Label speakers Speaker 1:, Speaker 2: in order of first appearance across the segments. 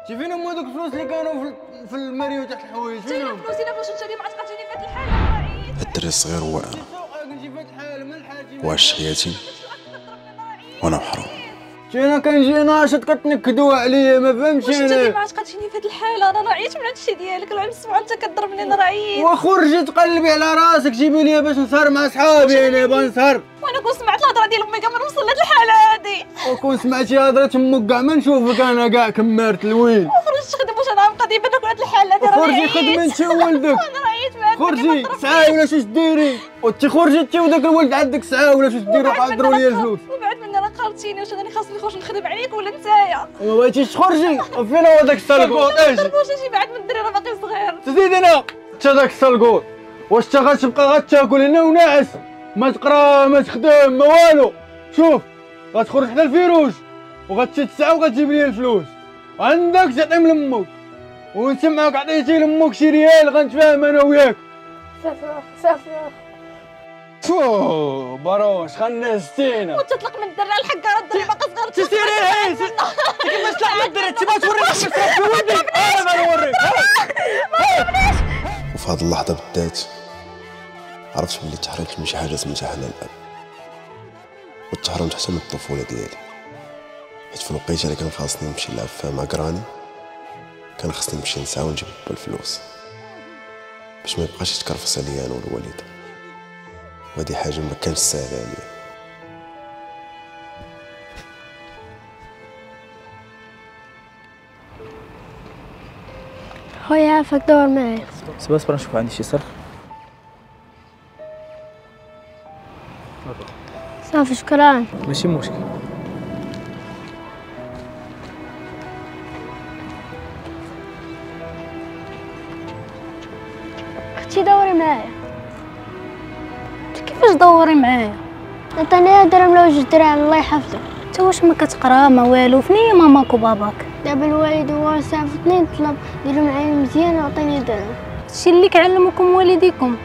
Speaker 1: شي فين هما دوك الفلوس اللي كانوا في الماريو تحت الحوايج؟ فين
Speaker 2: هما فلوسي؟ الا واش انت اللي ما عتقتيني في هاد الحالة؟
Speaker 3: الدري الصغير هو انا، وعشت حياتي وانا محروم.
Speaker 1: انا كنجي ناشط كتنكدوا عليا، ما فهمتش
Speaker 2: واش انت
Speaker 1: انا
Speaker 2: اللي ما عتقتيني في هاد الحالة؟ انا عييت من هادشي ديالك، العام السبعة انت كضربني، انا عييت.
Speaker 1: وخرجي تقلبي على راسك، جيبي لي باش نسهر مع صحابي، انا باغي نسهر.
Speaker 2: وانا كون سمعت الهضرة ديال امي كاع ما نوصل لهاد الحالة هادي.
Speaker 1: وكون سمعتي هضره امك كاع ما نشوفك انا كاع كمارت الويل.
Speaker 2: وخرجت تخدم، واش انا غنبقى ديما ناكل هاد الحالة هادي؟ راه
Speaker 1: خرجي خدمي انت وولدك.
Speaker 2: انا عييت مع
Speaker 1: خرجي سعاي ولا شو ديري؟ وانت خرجي انت وداك الولد عندك سعاي ولا شو ديري؟ حضروا لي الفلوس.
Speaker 2: وبعد من راه قالتيني واش انا خاصني نخرج نخدم عليك ولا نتايا؟
Speaker 1: وما بغيتيش تخرجي؟ فين هو داك السلقوط؟ اجي
Speaker 2: واش اجي بعد من الدري راه باقي صغير.
Speaker 1: تزيد انا انت داك السلقوط، واش انت غتبقى غتاكل هنا وناعس، ما تقرا ما تخدم ما والو؟ شوف غتخرج حدا الفيروج وغتمشي تسعى وغتجيب لي الفلوس، عندك تعطيهم لامك، ونسمعك عطيتي لامك شي ريال غنتفاهم انا وياك.
Speaker 4: صافي صافي.
Speaker 1: فو باروش خنستينا.
Speaker 2: وانت تطلق من الدري الحكاره، الدري باقي صغير.
Speaker 1: تسيري العيش كيفاش طلع من الدري؟ انت ما توريني كيفاش تربي ولدي، انا ما نوريك.
Speaker 3: وفي هذه اللحظة بالذات عرفت بلي تحرمت من شي حاجة سميتها حنان الاب، وتحرمت حتى من الطفولة ديالي، حيت في الوقيته اللي كان خاصني نمشي نلعب فيها مع كراني كان خاصني نمشي نسعى ونجيب الفلوس باش ما يبقاش يتكرفس عليا انا والوالدة، وهذه حاجة ما كانتش ساهله عليا.
Speaker 4: خويا عافاك دور معايا.
Speaker 5: صبر صبر نشوف عندي شي صرف.
Speaker 4: صافي شكرا.
Speaker 5: ماشي مشكل.
Speaker 4: اختي دوري معايا.
Speaker 6: كيفاش دوري معايا؟
Speaker 4: عطيني درهم ولا جوج دراهم الله يحفظك.
Speaker 6: انت واش ما كتقرا ما والو؟ فين هي ماماك وباباك؟
Speaker 4: دابا الوالد هو صيفطني نطلب ديروا معايا مزيان وعطيني درهم.
Speaker 6: هادشي اللي كيعلمكم والديكم،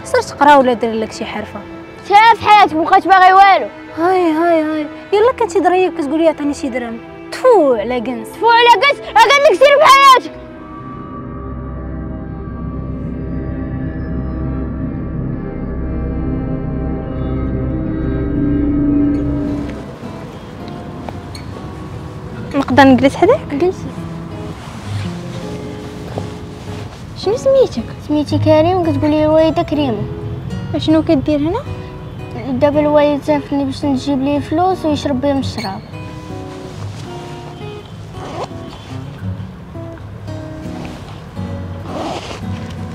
Speaker 6: سير تقرا ولا دير لك شي حرفه.
Speaker 4: شاف حياتك مبقاش باغي والو.
Speaker 6: هاي هاي هاي، يلا كنتي دريه كتقولي عطيني شي درهم. تفو على كنس،
Speaker 4: تفو على كنس، راه قال لك سير بحياتك.
Speaker 2: نقدر نجلس حداك؟
Speaker 4: جلسي.
Speaker 2: شنو سميتك؟
Speaker 4: سميتي كريم، كتقولي الوالدة كريمة.
Speaker 2: شنو كدير هنا؟
Speaker 4: دابا الوالد صيفطني باش نجيب ليه فلوس ويشرب بهم الشراب.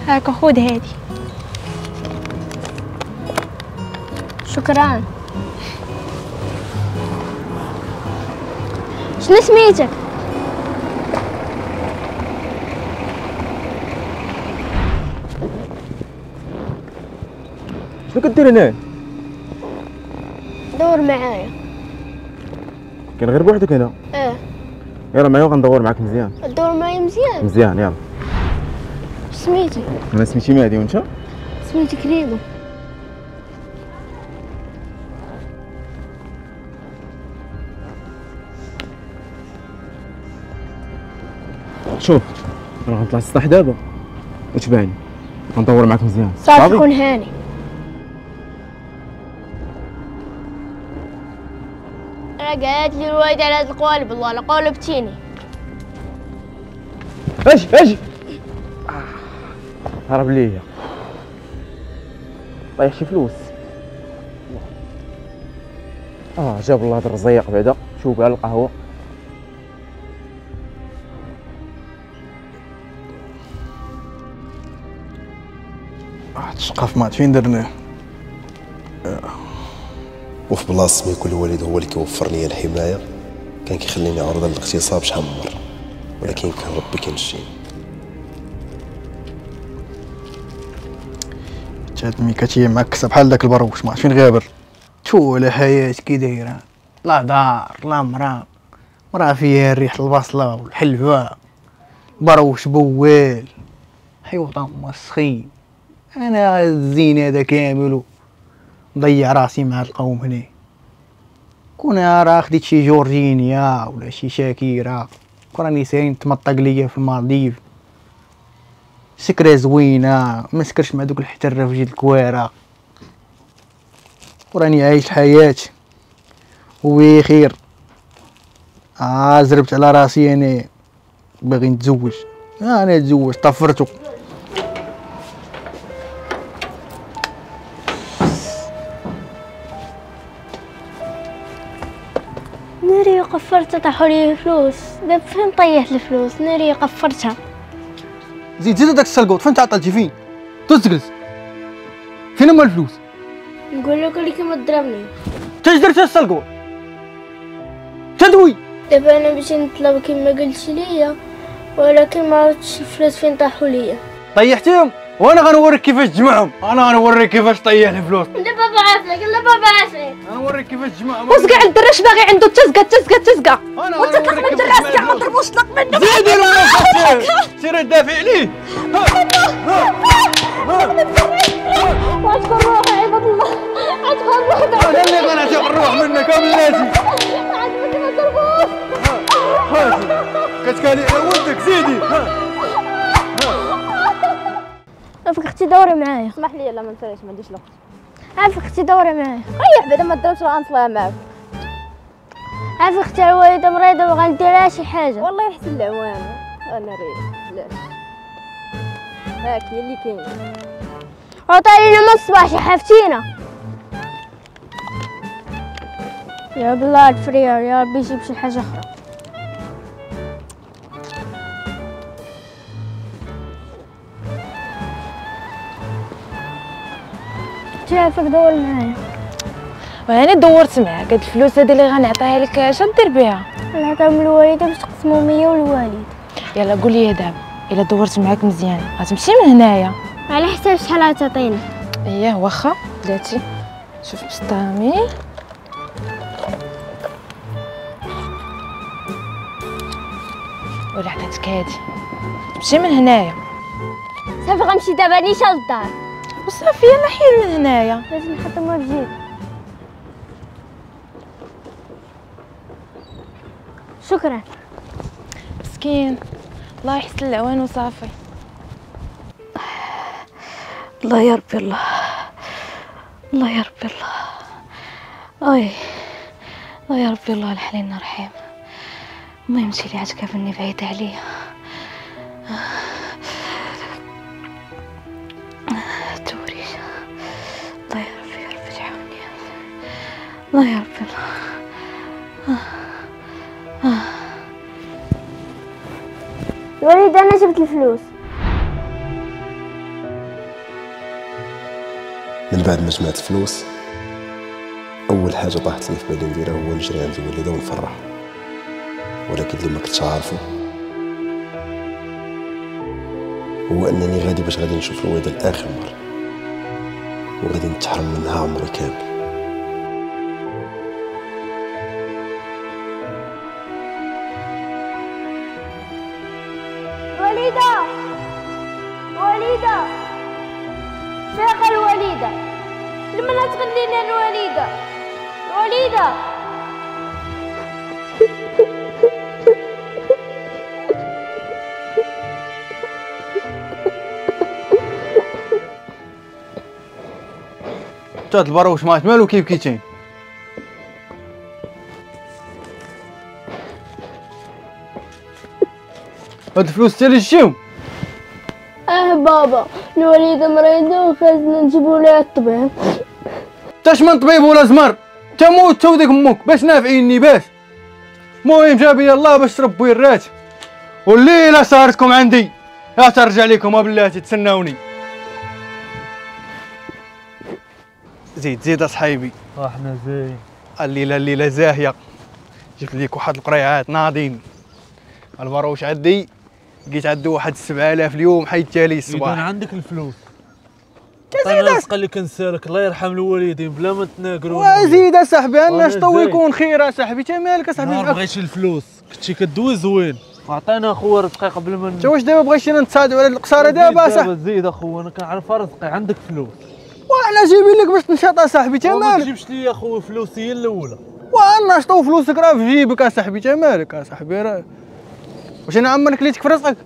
Speaker 2: هاكا خذ هادي.
Speaker 4: شكرا. شنو سميتك؟
Speaker 5: شنو كدير هنا؟
Speaker 4: دور معايا.
Speaker 5: كاين غير بوحدك هنا؟
Speaker 4: اه.
Speaker 5: يلا معايا وغندور معاك مزيان.
Speaker 4: دور معايا مزيان؟
Speaker 5: مزيان يلا.
Speaker 4: سميتك؟
Speaker 5: انا سميتي مهدي، وانت؟
Speaker 4: سميتي كريمة.
Speaker 5: شوف انا غنطلع السطح دابا وتبعني، غندور معاك مزيان.
Speaker 4: صافي كون هاني. راه قالت لي الوالدة على هاد القوالب، الله لا قولبتيني.
Speaker 5: اجي اجي. هرب ليا، طيح شي فلوس. جاب الله هاد الرزيق بعدا. شوف على القهوة.
Speaker 1: الشقف ما فين درناه.
Speaker 3: وفي بلاصة ما يكون الوالد هو اللي كيوفر لي الحماية كان كيخليني عرضه للاغتصاب شحال من مرة، ولكن كان ربي كينجيني.
Speaker 1: هاد الميكاتيه معكسه بحال داك البروش ما فين غابر. تو على حياة كي دايرة، لا دار لا مرا، مرا فيها ريحه البصله والحلوه، بروش بوال، حيوطه مسخين. انا الزين هذا كامل مضيع راسي مع القوم هنا. كون راه خديت شي جورجينيا ولا شي شاكيرا راني ساين تمطق ليا في المالديف، سكرة زوينة، ما سكرش مع دوك الحترة في جيد الكوارة، وراني عايش الحياة وبخير. زربت على راسي انا باغي نتزوج، انا نتزوج طفرتو.
Speaker 4: ناري قفرتها، طاحوا لي الفلوس. دابا فين طيحت الفلوس؟ ناري قفرتها.
Speaker 1: زيد زيد هذاك السلقوط، فين تعطلتي؟ فين تجلس؟ فين هما الفلوس؟
Speaker 4: نقول لك اللي كيما ضربني.
Speaker 1: انت اش درتي السلقوط؟ تدوي.
Speaker 4: دابا انا باش نطلب كما قلت ليا، ولكن ما عرفتش الفلوس فين طاحوا ليا.
Speaker 1: طيحتيهم وانا غنوريك كيفاش تجمعهم، انا غنوريك كيفاش طيح الفلوس.
Speaker 4: لا بابا عافاك، لا بابا عافاك،
Speaker 1: انا نوريك كيفاش تجمعهم.
Speaker 2: وزكع الدرش باغي عنده تزكى تزكى تزكى، وانت طلق من الدراس كاع ما ضربوش، طلق منه.
Speaker 1: زيدي راه سيري دافع عليه.
Speaker 2: وعتقوا الروح يا عباد الله، عتقوا الروح.
Speaker 1: انا اللي غنعتق الروح منك بلاتي.
Speaker 2: عاد ما ضربوش.
Speaker 1: كتكالي على ولدك، زيدي.
Speaker 4: عافاك اختي دوري معايا.
Speaker 7: اسمح لي لا ما نساليش، ما عنديش الوقت.
Speaker 4: عافاك اختي دوري معايا.
Speaker 7: ريح بعدا ما تضربش راه غنصليها معاك.
Speaker 4: عافاك اختي الوالدة مريضه وغندير لها شي حاجة.
Speaker 7: والله يحسن العوان. انا ريح علاش هاك هي اللي كاينه.
Speaker 4: عطاني من الصباح شي حافتينا. يا بالله الفريار، يا ربي يجيب شي حاجة اخرى. عافاك دور معايا.
Speaker 8: وانا دورت معاك. هاد الفلوس هادي اللي غنعطيها لك اش غدير بها؟
Speaker 4: نعطيهم للوالده باش تقسمهم هي والوالد.
Speaker 8: يلا قول لي دابا الا دورت معاك مزيان غتمشي من هنايا؟
Speaker 4: على حساب شحال غتعطيني.
Speaker 8: اييه واخا بلاتي. شوف بسطامي ولا عطاتك هادي تمشي من هنايا.
Speaker 4: صافي غنمشي دابا نيشان للدار.
Speaker 8: وصافي يلا حيد من هنايا.
Speaker 4: لازم نحطهم في جيبي. شكرا.
Speaker 8: مسكين الله يحسن العوان وصافي.
Speaker 2: الله يا ربي الله، الله يا ربي الله، اي الله يا ربي الله الحليم الرحيم. المهم انتي اللي عتكافلني بعيدة عليا. توريش الله يا ربي، يا ربي تعاوني. الله يا ربي الله.
Speaker 4: الوليد انا جبت الفلوس.
Speaker 3: من بعد ما جمعت الفلوس اول حاجة طاحت لي في بالي نديرها هو نجري عند الوالدة ونفرح، ولكن اللي ما كنتش عارفه هو انني غادي باش غادي نشوف الوالدة لاخر مرة وغادي نتحرم منها عمري كامل.
Speaker 4: وليده وليده فاق الوليدة، لمن تغنينا الوليدة؟ الوليدة
Speaker 1: هاد البروش مات مالو كيف كيتين. هاد الفلوس حتى لجيهم.
Speaker 4: بابا الوليدة مريضة وخاصنا نجيبو لها الطبيب.
Speaker 1: تاش من طبيب ولا زمر، تموت تا وديك امك باش نافعيني باش. المهم جاب لي الله باش تربي الرات، والليلة سهرتكم عندي لا ترجع لكم بلاتي تسناوني. زيد زيد اصحيبي.
Speaker 9: احنا زين.
Speaker 1: الليلة الليلة زاهيه، جبت ليك واحد القريعات ناضين. البروش عندي لقيت عندو واحد 7000 اليوم حيدتها لي الصباح.
Speaker 9: اذا عندك الفلوس زيد الرزق اللي كنسالك الله يرحم الوالدين بلا ما تناقروا.
Speaker 1: وزيد اصاحبي انا شطو يكون خير اصاحبي. تا مالك اصاحبي؟
Speaker 9: ما بغيتش الفلوس كنتي كدوي زوين. عطينا اخويا رزقي قبل ما
Speaker 1: انت واش دابا بغيتينا نتصادوا على القصاره دابا اصاحبي؟
Speaker 9: زيد اخويا انا كنعرف رزقي عندك فلوس
Speaker 1: وانا جايبين لك باش تنشط اصاحبي. تا مالك؟
Speaker 9: ما تجيبش لي اخويا فلوسي هي الاولى.
Speaker 1: وانا شطو فلوسك راه في جيبك اصاحبي. تا مالك اصاحبي؟ راه واش انا عمرك كليتك في رزقك؟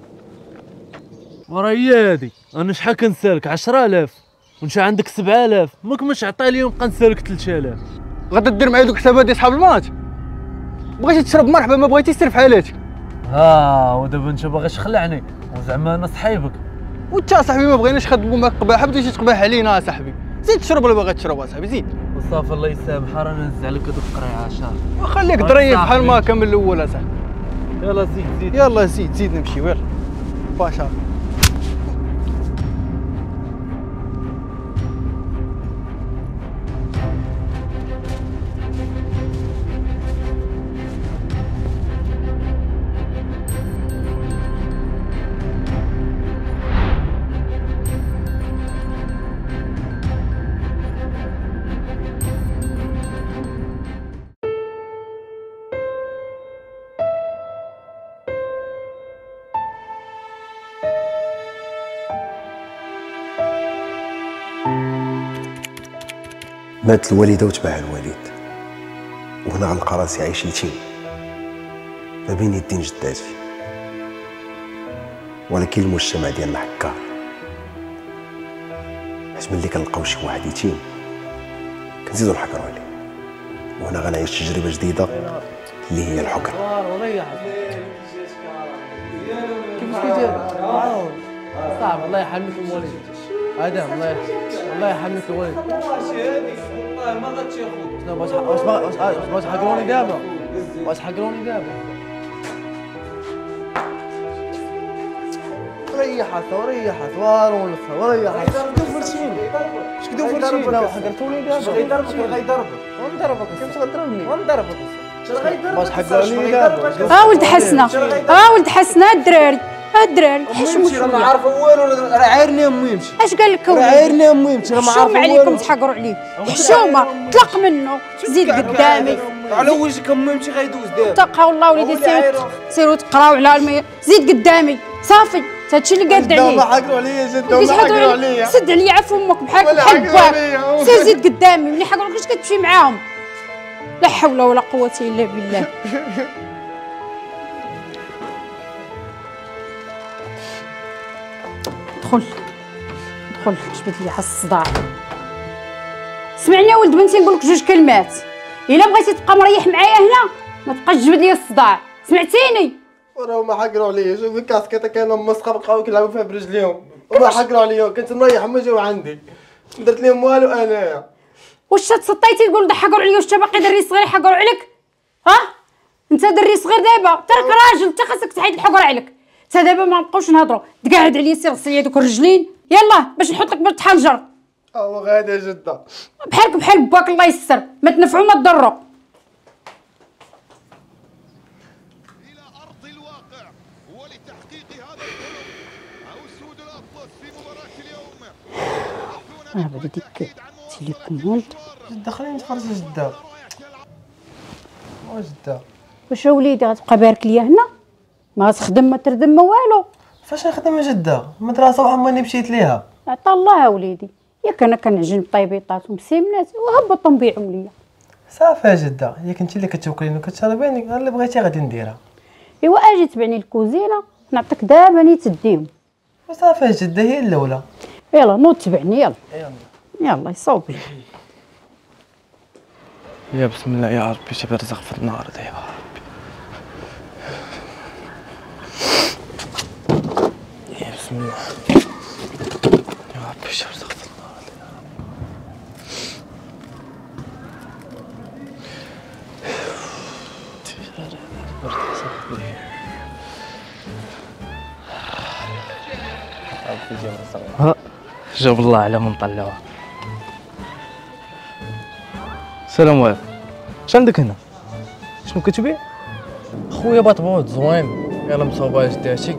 Speaker 9: وراه هي هادي، انا شحال كنسالك؟ 10000 وانت عندك 7000، ماك مش عطي لي ونبقى نسالك 3000.
Speaker 1: غادا دير معايا دوك الحسابات ديال صحاب الماتش. بغيتي تشرب مرحبا، ما بغيتيش سير في حالاتك.
Speaker 9: ها ودابا انت باغي تخلعني وزعما انا صحيبك.
Speaker 1: وانت صاحبي ما بغيناش نخدموا معاك قباحه، بديتي تقباح علينا صاحبي. زيد تشرب ولا باغي تشرب اصاحبي زيد.
Speaker 9: وصافي الله يسامح، رانا نزع لك هذوك القريعه شهر.
Speaker 1: وخليك ظريف بحال ما كان من الاول اصاحبي.
Speaker 9: يلا زيد زيد،
Speaker 1: يلا زيد زيد نمشيو يلا باشا.
Speaker 3: مات الوالدة وتبعها الوالد، وهنا غنلقى راسي عايش يتيم ما بين يدين جداتي. ولكن المجتمع ديالنا حكار، حيت ملي كنلقاو شي واحد يتيم كنزيدو نحكرو عليه. وهنا غنعيش تجربة جديدة اللي هي الحكر.
Speaker 9: كيفاش كيدير؟ صعب. الله يحميك الوالد ادم، الله يحميك الوالد. والله ما غاتاخذ. واش حقروني دابا؟ واش حقروني دابا؟ ريحت وريحت ونص وريحت. اش كدوفرتيني؟ لا حقرتوني دابا. غيضربك غيضربك ونضربك. كيفاش غتضربني؟ ونضربك. واش حقروني دابا؟
Speaker 10: ها ولد حسنه، ها ولد حسنه. الدراري الدراري حشموا شوية.
Speaker 11: ما عارفه والو، راه عايرني امي يمشي.
Speaker 10: اش قال لك؟
Speaker 11: راه عايرني امي يمشي. راه ما عارفه
Speaker 10: والو. عليكم تحقروا عليه، حشومه. طلق منه، زيد قدامي.
Speaker 11: على وجهك امي يمشي غيدوز دابا.
Speaker 10: تقاو الله وليدي، سيروا تقراو على زيد قدامي صافي. هادشي اللي قاد عليه.
Speaker 11: ما حقروا عليا جدا، ما حقروا عليا.
Speaker 10: سد عليا عفو امك بحال بحال باك. سير زيد قدامي. ملي حقروا عليك كتمشي معاهم؟ لا حول ولا قوة الا بالله. دخل دخل، جبد لي الصداع. سمعني يا ولد بنتي نقول لك جوج كلمات. الا بغيتي تبقى مريح معايا هنا ما تبقاش تجبد لي الصداع، سمعتيني؟
Speaker 11: راه ما حقروا عليا. شوف الكاسكيطه كانوا مسخه بقاو كيلعبوا فيها برجليهم وما حقروا عليا. كنت مريح هما جاو عندي، درت لهم والو انايا.
Speaker 10: واش تسطيتي تقول حقروا عليا؟ واش باقي دري صغير حقروا عليك؟ ها انت دري صغير دابا، انت راك راجل، انت خاصك تحيد الحقر عليك. انت دابا ما نبقاوش نهضروا، تقعد عليا سير غسل لي دوك الرجلين يلا باش نحط لك بالحنجر.
Speaker 11: هو غادي يا جده.
Speaker 10: بحالك بحال باك الله يستر، ما تنفعوا ما تضروا. بعدا ديك télécommande.
Speaker 11: جده خليني نتفرج جده. جده
Speaker 10: واش وليدي غتبقى بارك ليا هنا؟ ما تخدم ما تردم ما والو.
Speaker 11: فاش نخدم يا جده؟ المدرسة وعمرني مشيت ليها.
Speaker 10: عطا الله وليدي، ياك انا كنعجن بطيبيطات ومسيمنات وهبطوا نبيعهم ليا.
Speaker 11: صافي يا جده، ياك انت اللي كتوكليني وكتشربيني، اللي بغيتي غادي نديرها.
Speaker 10: ايوا اجي تبعني الكوزينة نعطيك دابا ني تديهم.
Speaker 11: وصافي يا جده هي الاولى.
Speaker 10: يلا نوض تبعني يلا. يلا يصوب لي.
Speaker 5: يا بسم الله يا ربي شي رزق في النهار يا ربي. يا بسم الله يا ربي شي رزق في النهار يا ربي. جاب الله على من طلعوها. السلام عليكم. اش عندك هنا؟ شنو كتبيع؟
Speaker 11: خويا بطبوط زوين، يلا مصوبه جداتي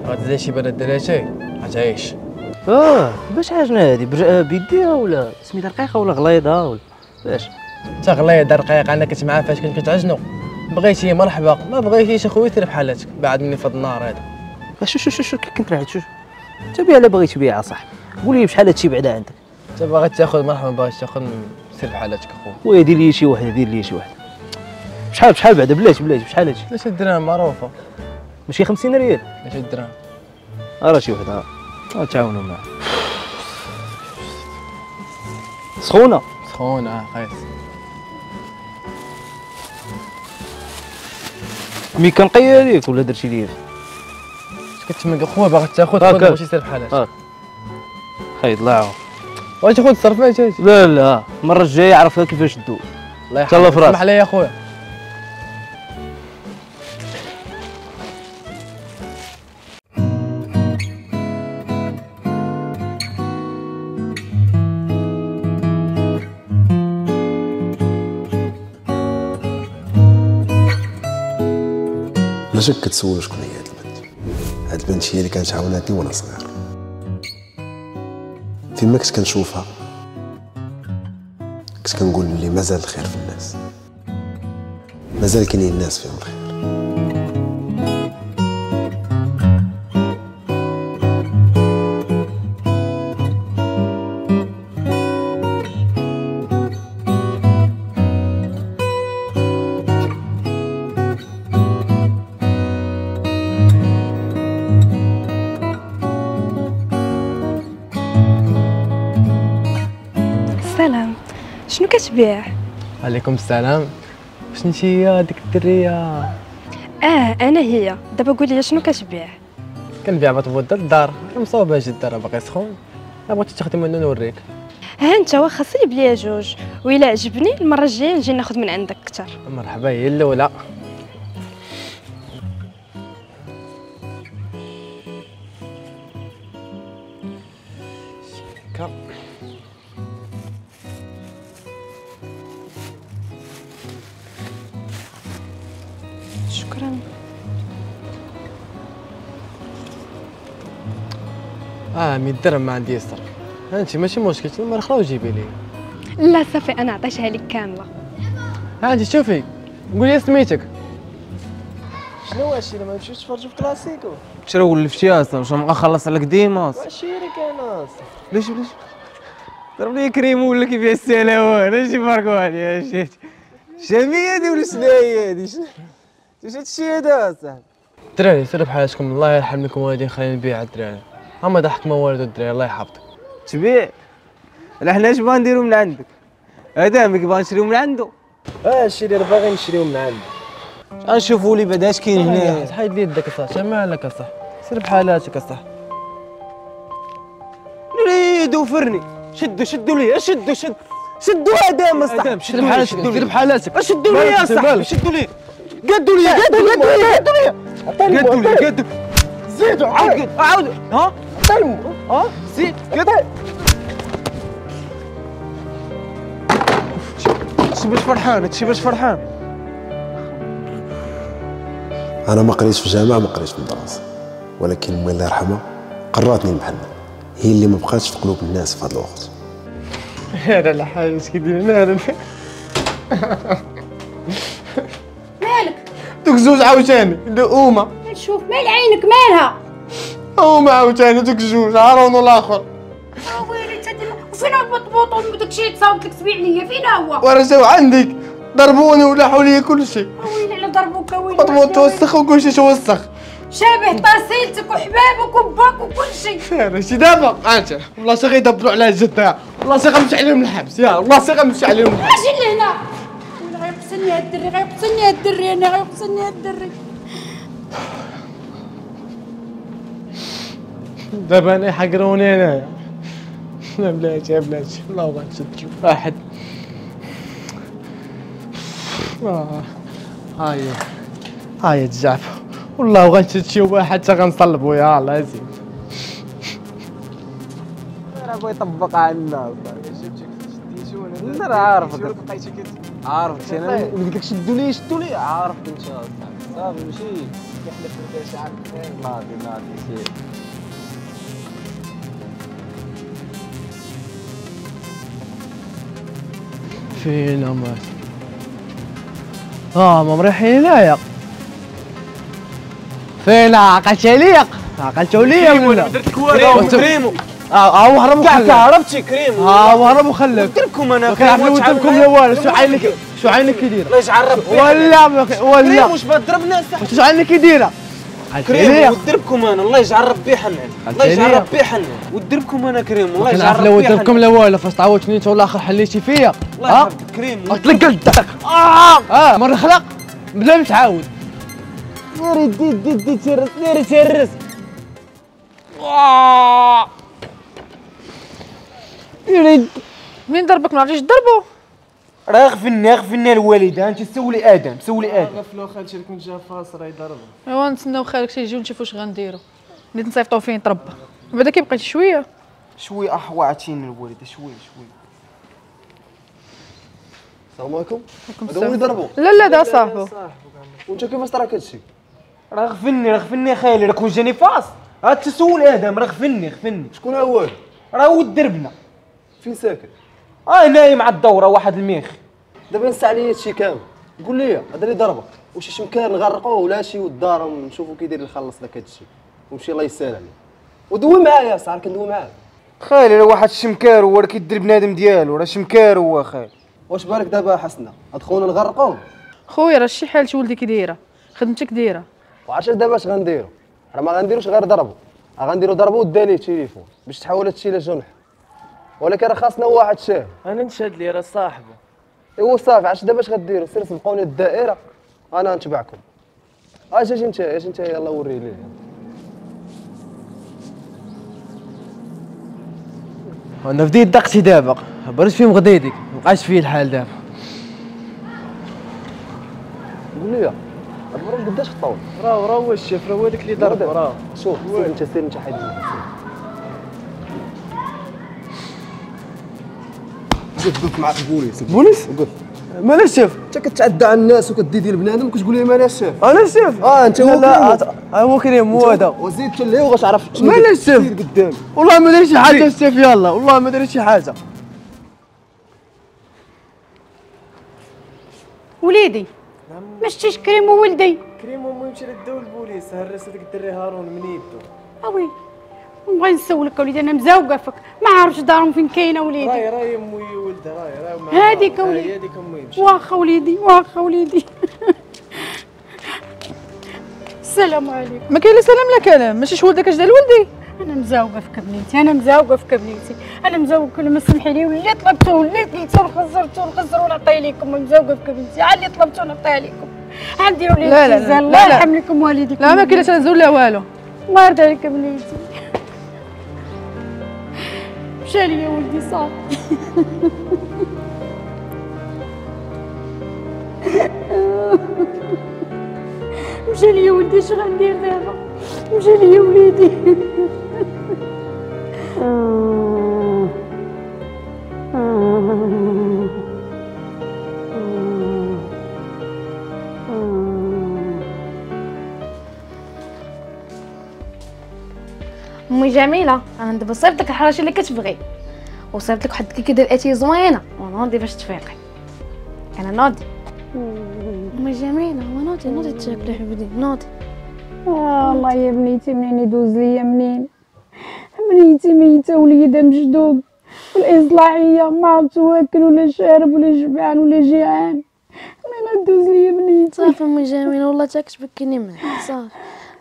Speaker 11: غتزيد شي بلد دلاتي غتعيش.
Speaker 5: باش عاجنه هادي بيديها ولا سميتها رقيقه ولا غليظة ولا باش؟
Speaker 11: انت غليظة رقيقه، انا كنت معاه فاش كنت كتعجنو. بغيتي مرحبا، ما بغيتيش اخويا سير بحالاتك، بعد مني في هاد النهار هذا.
Speaker 5: شو شو شو كنت راعي شو انت بيع لا بغيت تبيع صاحبي، قول لي بشحال هادشي بعدا عندك.
Speaker 11: انت باغي تاخذ مرحبا، باغي تاخذ سير بحالاتك اخويا.
Speaker 5: خويا دير لي شي وحده، دير لي شي وحده. بشحال بشحال بعدا؟ بلاش بلاش بشحال هادشي؟
Speaker 11: 3 دراهم معروفة.
Speaker 9: ماشي 50 ريال،
Speaker 11: 3 دراهم.
Speaker 9: راه شي وحده تعاونوا معاه. سخونة
Speaker 11: سخونة قيس.
Speaker 9: mais كنقيا ليك ولا درتي ليا؟
Speaker 11: اش كتمنك خويا باغي تاخذ خذ ماشي سير بحالك.
Speaker 9: خيط الله يعاون.
Speaker 11: واش تاخذ الصرفات هادشي؟
Speaker 9: لا لا المرة الجاية عرفها كيفاش دوز.
Speaker 11: الله يحفظك. سمح لي يا خويا.
Speaker 3: لا شك كتسول شكون هي هاد البنت. هاد البنت هي اللي كانت عاونتني وانا صغير. فيما كنت كنشوفها كنت كنقول بلي مازال الخير في الناس، مازال كاينين الناس فيهم الخير.
Speaker 6: السلام، شنو كتبيع؟
Speaker 11: عليكم السلام. واش انت هي هذيك الدريه؟
Speaker 6: انا هي. دابا قولي لي شنو كتبيع؟
Speaker 11: كنبيع بطبوط الدار، مصوبه جدا، راه باقي سخون. الا بغيتي تاخدي منه نوريك.
Speaker 6: ها انت واخا صيب ليا جوج، وإلا عجبني المرة الجاية نجي ناخذ من عندك اكثر.
Speaker 11: مرحبا، هي الاولى.
Speaker 6: شكرا.
Speaker 11: 100 درهم ما عندي يسر. انت ماشي مشكل، المرة اخرى وجيبي لي.
Speaker 6: لا صافي انا عطيتها لك كاملة.
Speaker 11: ها انت شوفي، قولي سميتك.
Speaker 9: شنو هادشي ما نمشيوش نتفرجوا في كلاسيكو؟
Speaker 5: شنو ولفتي اصلا؟ واش نبقى نخلص عليك ديما؟
Speaker 9: وعشيرك انا اصلا.
Speaker 5: بلاش بلاش ضرب لي كريمو ولا كيف السلاوان؟ اجي باركو عليا. اجي شامية هادي ولا شنو هي هادي؟ شنو هادشي هذا اصاحبي؟
Speaker 11: الدراري سيروا بحالاتكم، الله يرحم لكم والدين، خلينا نبيع الدراري. هما ضحك ما والو الدراري، الله يحفظك.
Speaker 5: تبيع؟ لا حنا اش بغا نديرو من عندك؟ هذا ملي باغي نشريو من عنده.
Speaker 9: هادشي اللي باغي نشريو من عنده.
Speaker 5: غنشوفوا لي بعدا اش كاين هنا.
Speaker 11: حيد لي يدك اصاحبي، مالك اصاحبي؟ سير بحالاتك اصاحبي.
Speaker 5: نريد وفرني. شدوا شدوا لي، شدوا شدوا شدوا ادم اصاحبي.
Speaker 11: سير بحالاتك، سير بحالاتك.
Speaker 5: شدوا لي يا صاحبي، شدوا لي. قدوا لي قدوا لي قدوا لي قدوا لي قدوا.
Speaker 9: زيدوا
Speaker 5: عاود عاود. ها ها زيد قد. هادشي باش فرحان، هادشي باش فرحان.
Speaker 3: انا ما قريتش في جامعه، ما قريتش في مدرسه، ولكن امي الله يرحمها قراتني المحنة، هي اللي ما بقاتش في قلوب الناس في هذا الوقت.
Speaker 11: هذا الحاج كيدير مالك؟
Speaker 10: مالك؟
Speaker 11: دوك زوج عاوتاني هما.
Speaker 10: نشوف مال عينك مالها؟
Speaker 11: هما عاوتاني دوك جوج هارون والاخر.
Speaker 10: ويلي انت وفين هو البطبوط وداكشي اللي تصاوبت لك تبيع ليا؟ فين هو؟
Speaker 11: وراه جاو عندك ضربوني ولاحوا لي كلشي.
Speaker 10: ويلي على ضربوك، ويلي
Speaker 11: بطبوط توسخ وكلشي توسخ.
Speaker 10: شابه طاسيلتك وحبابك وباك وكلشي.
Speaker 11: ماشي دابا انت والله شي غيدبروا على جدها، والله شي غنمشي عليهم الحبس، يا والله شي غنمشي عليهم.
Speaker 10: اجي لهنا. ويلي غيقتلني هاد الدري، غيقتلني هاد الدري، انا غيقتلني هاد الدري.
Speaker 11: دابا انا حقروني انايا. لا بلاتي بلاتي، والله غنشد شي واحد. هاي هاي الجعفه، والله غنشد شي واحد حتى غنصلبو. يا الله يزيد.
Speaker 5: راه بغا يطبق عندنا. شفتك راه عارفك، عارفك انا قلت لك شدوا لي شدوا لي، عارفك انت صافي. ماشي كيحلف لك شي عارف. ناضي ناضي سير.
Speaker 11: فين هما؟ ما مريحين هنايا. فين عقلت عليا؟ عقلتوا ليا ولا؟
Speaker 5: درت لك والو كريمو.
Speaker 11: هو هرب وخلك.
Speaker 5: هربتي كريمو.
Speaker 11: هو هرب وخلك.
Speaker 5: قلت لكم انا
Speaker 11: كنعرف نوتبكم لا والو. شو عينك شو عينك كي دايرة؟
Speaker 5: الله يجعل ربي.
Speaker 11: ولا ولا
Speaker 5: كريمو واش بغات تضربنا صح؟
Speaker 11: شو عينك كي دايرة؟
Speaker 5: كريم ودربكم انا، الله يجعل ربي حنان، الله يجعل ربي حنان، ودربكم انا كريم، الله يجعل ربي حنان. لا ودربكم لا والو، فاش تعاودتني انت ولا اخر حليتي فيا. الله يحفظك كريم. قلت لك قلت مرة خلق بلا ما تعاود. ناري دي دي دي تهرس، ناري تهرس.
Speaker 8: منين ضربك ما عرفتيش تضربو؟
Speaker 5: راه غفلني غفلني الوالدة، انت سولي ادم، سولي ادم.
Speaker 11: غفلو خالتي كون جا فاس راه يضربو.
Speaker 8: ايوا نتسناو خالك تيجي ونشوفو اش غنديرو، ملي نصيفطو فين يتربى. بعدا كيبقيتي شوية
Speaker 5: شوية احوا عطيني الوالدة شوية شوية.
Speaker 3: السلام عليكم. هذا هو اللي ضربو؟
Speaker 8: لا لا دا صاحبو.
Speaker 3: وانت كيفاش طراك هادشي؟
Speaker 5: راه غفلني راه غفلني خالي، راه كون جاني فاس راه تسول ادم، راه غفلني غفلني.
Speaker 3: شكون هو؟
Speaker 5: راه هو دربنا.
Speaker 3: فين ساكن؟
Speaker 5: نايم على الدورة واحد الميخ.
Speaker 3: دابا نسى عليا هادشي كامل، قول لي هذا اللي ضربك واش شي مكان نغرقوه ولا شي والدار ونشوفو كيدير يخلص لك هادشي ومشي الله يسهل عليه. ودوي معايا صار كندوي معاك.
Speaker 5: خالي راه واحد الشمكار هو، راه كيدير بنادم ديالو، راه شمكار هو خالي.
Speaker 3: واش بالك دابا حسنه هاد خونا نغرقوه؟
Speaker 8: خويا راه شي حالة ولدي كي دايرة، خدمتك دايرة.
Speaker 3: وعرفتي دابا اش غنديرو؟ راه ما غنديروش غير ضربو، غنديرو ضربو وداليه التليفون باش تحول هادشي لجنح. ولكن راه خاصنا واحد شاهد.
Speaker 11: انا نشهد لي راه صاحبو.
Speaker 3: ايوا صافي، عرفتي دابا اش غديروا؟ سير سبقوني الدائرة انا نتبعكم. اجي اجي انت، اجي انت، يلاه وري ليه.
Speaker 9: انا بديت دقتي دابا، برد فيهم غديدك، مابقاش فيه الحال دابا.
Speaker 3: قول لي المرة قداش الطول؟
Speaker 11: راه راه هو الشيف، راه هو داك اللي ضرب راه.
Speaker 3: شوف سير انت، سير انت حيد. وقف وقف معاك البوليس.
Speaker 9: البوليس؟
Speaker 3: وقف.
Speaker 9: مال الشيف؟
Speaker 3: انت كتعدى على الناس وكدي ديال بنادم وكتقول لي مال الشيف.
Speaker 9: انا الشيف؟
Speaker 3: انت هو.
Speaker 9: لا هو كريم هو هذا.
Speaker 3: وزيد حتى ليه وغتعرف
Speaker 9: مال الشيف؟
Speaker 3: سير قدامي.
Speaker 9: والله ما درت شي حاجة الشيف، يلا والله ما درت شي حاجة.
Speaker 10: وليدي ما شتيش كريم وولدي؟
Speaker 11: كريم ومو يمشي لداو البوليس، هرس هذاك الدري هارون من يدو.
Speaker 10: اوي نبغي نسولك وليدي، انا مزاوقه فيك، ما عارفش دارهم فين كاينه وليدي.
Speaker 11: راهي راهي امي ولدها، راهي راهي
Speaker 10: هذيك وليدي،
Speaker 11: هذيك امي.
Speaker 10: واخا وليدي، واخا وليدي. السلام عليكم.
Speaker 8: ما كاين لا سلام لا كلام، ماشي ولدك اش دار لولدي؟
Speaker 10: انا مزاوقه فيك بنيتي، انا مزاوقه فيك بنيتي، انا مزاوقه. ما سمحي لي، واللي طلبته واللي قلتو وخسرتو ونخسرو ونعطيه لكم. مزاوقه فيك بنتي، على اللي طلبته نعطيه لكم. غنديروا لي التزام. الله يرحم لكم والديكم.
Speaker 8: لا ما كاين لا تنزل لا والو.
Speaker 10: الله يرضي عليك بنيتي. مشى لي ولدي صافي. مشى لي ولدي، اش غندير دابا؟ مشى لي وليدي.
Speaker 2: امي جميلة، انا دابا صيفط لك الحراشي اللي كتبغي، وصيفط لك واحد الكيكه ديال اتي زوينة، ونوضي باش تفيقي. انا نوضي امي جميلة، ونوضي نوضي تاكلي حبيبتي، نوضي.
Speaker 10: الله يا بنيتي منين يدوز ليا، منين بنيتي ميته وليدها مجدوب والاصلاحيه، ما عرفت واكل ولا شارب ولا جبعان ولا جيعان، منين دوز ليا بنيتي؟
Speaker 2: صافي امي جميلة، والله تا كتبكيني معاك. صافي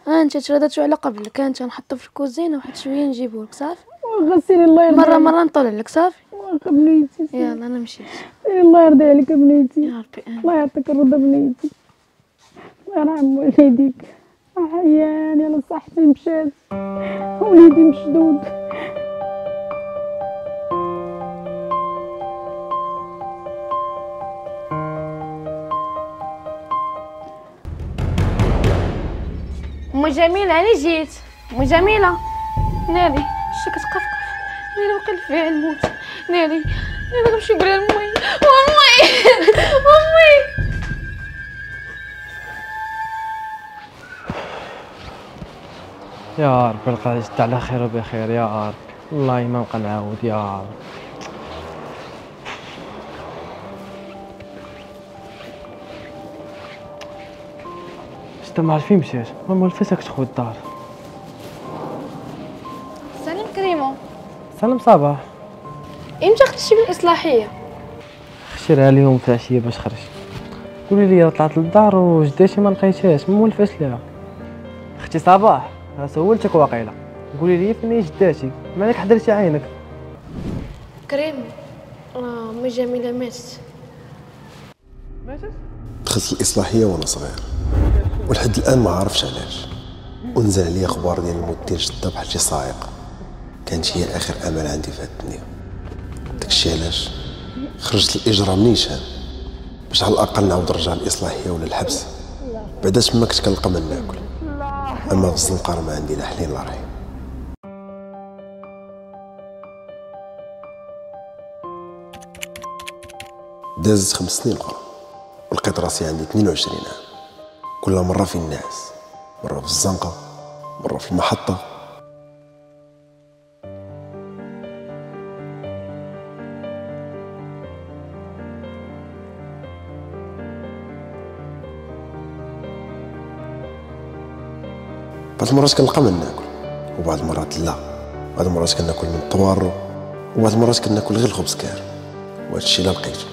Speaker 2: انت تردتو على قبلك، انت نحطو في الكوزينة واحد شوية نجيبولك. صافي
Speaker 10: واخا سيري الله يرضي
Speaker 2: مرة مرة نطول عليك. صافي
Speaker 10: واخا بنيتي،
Speaker 2: يلا انا مشيت.
Speaker 10: سيري الله يرضي عليك بنيتي،
Speaker 2: يا ربي امين.
Speaker 10: الله يعطيك الرضا بنيتي، الله يرحم والديك. احيان يلا صحتي مشات، وليدي مشدود.
Speaker 2: امي جميلة انا جيت. امي جميلة، ناري شتي كتقفقف، ناري وقع فيها الموت، ناري ناري غنمشي نقولها لامي. امي امي
Speaker 9: يا ربي القضية جات على خير وبخير يا رب، والله ما نبقى نعاود يا رب. شتا ما عرفت فين مشات، ما مولفاش كتخوي الدار.
Speaker 2: سلام كريمو.
Speaker 9: سلام صباح.
Speaker 2: امتى خرجتي من الاصلاحية؟
Speaker 9: خشيت لها اليوم في العشية باش خرجت. قولي لي طلعت للدار وجداتي ما لقيتهاش، ما مولفاش ليها. اختي صباح راه سولتك واقيلا، قولي لي فين جداتي، مالك حضرتي عينك؟
Speaker 4: كريم راه امي جميلة ماتت.
Speaker 9: ماتت؟
Speaker 3: دخلت الاصلاحية وانا صغير ولحد الان ما عارفش علاش، ونزل عليا اخبار ديال الموت ديال جده بحال شي صاعقة. كانت هي اخر امل عندي في هاد الدنيا. داكشي علاش خرجت الاجرام نيشان باش على الاقل نعاود نرجع للاصلاحيه ولا الحبس. بعدا تما كنت كنلقى ما ناكل، اما في الزنقة راه ما عندي لا حليل لا رحيم. دازت 5 سنين اخرى ولقيت راسي عندي 22 عام. كل مرة في الناس، مرة في الزنقة، مرة في المحطة. بعض المرات كنلقى ما ناكل وبعض المرات لا. بعض المرات كناكل من الطوارو وبعض المرات كناكل غير الخبز كار، وهذا الشيء لا لقيته.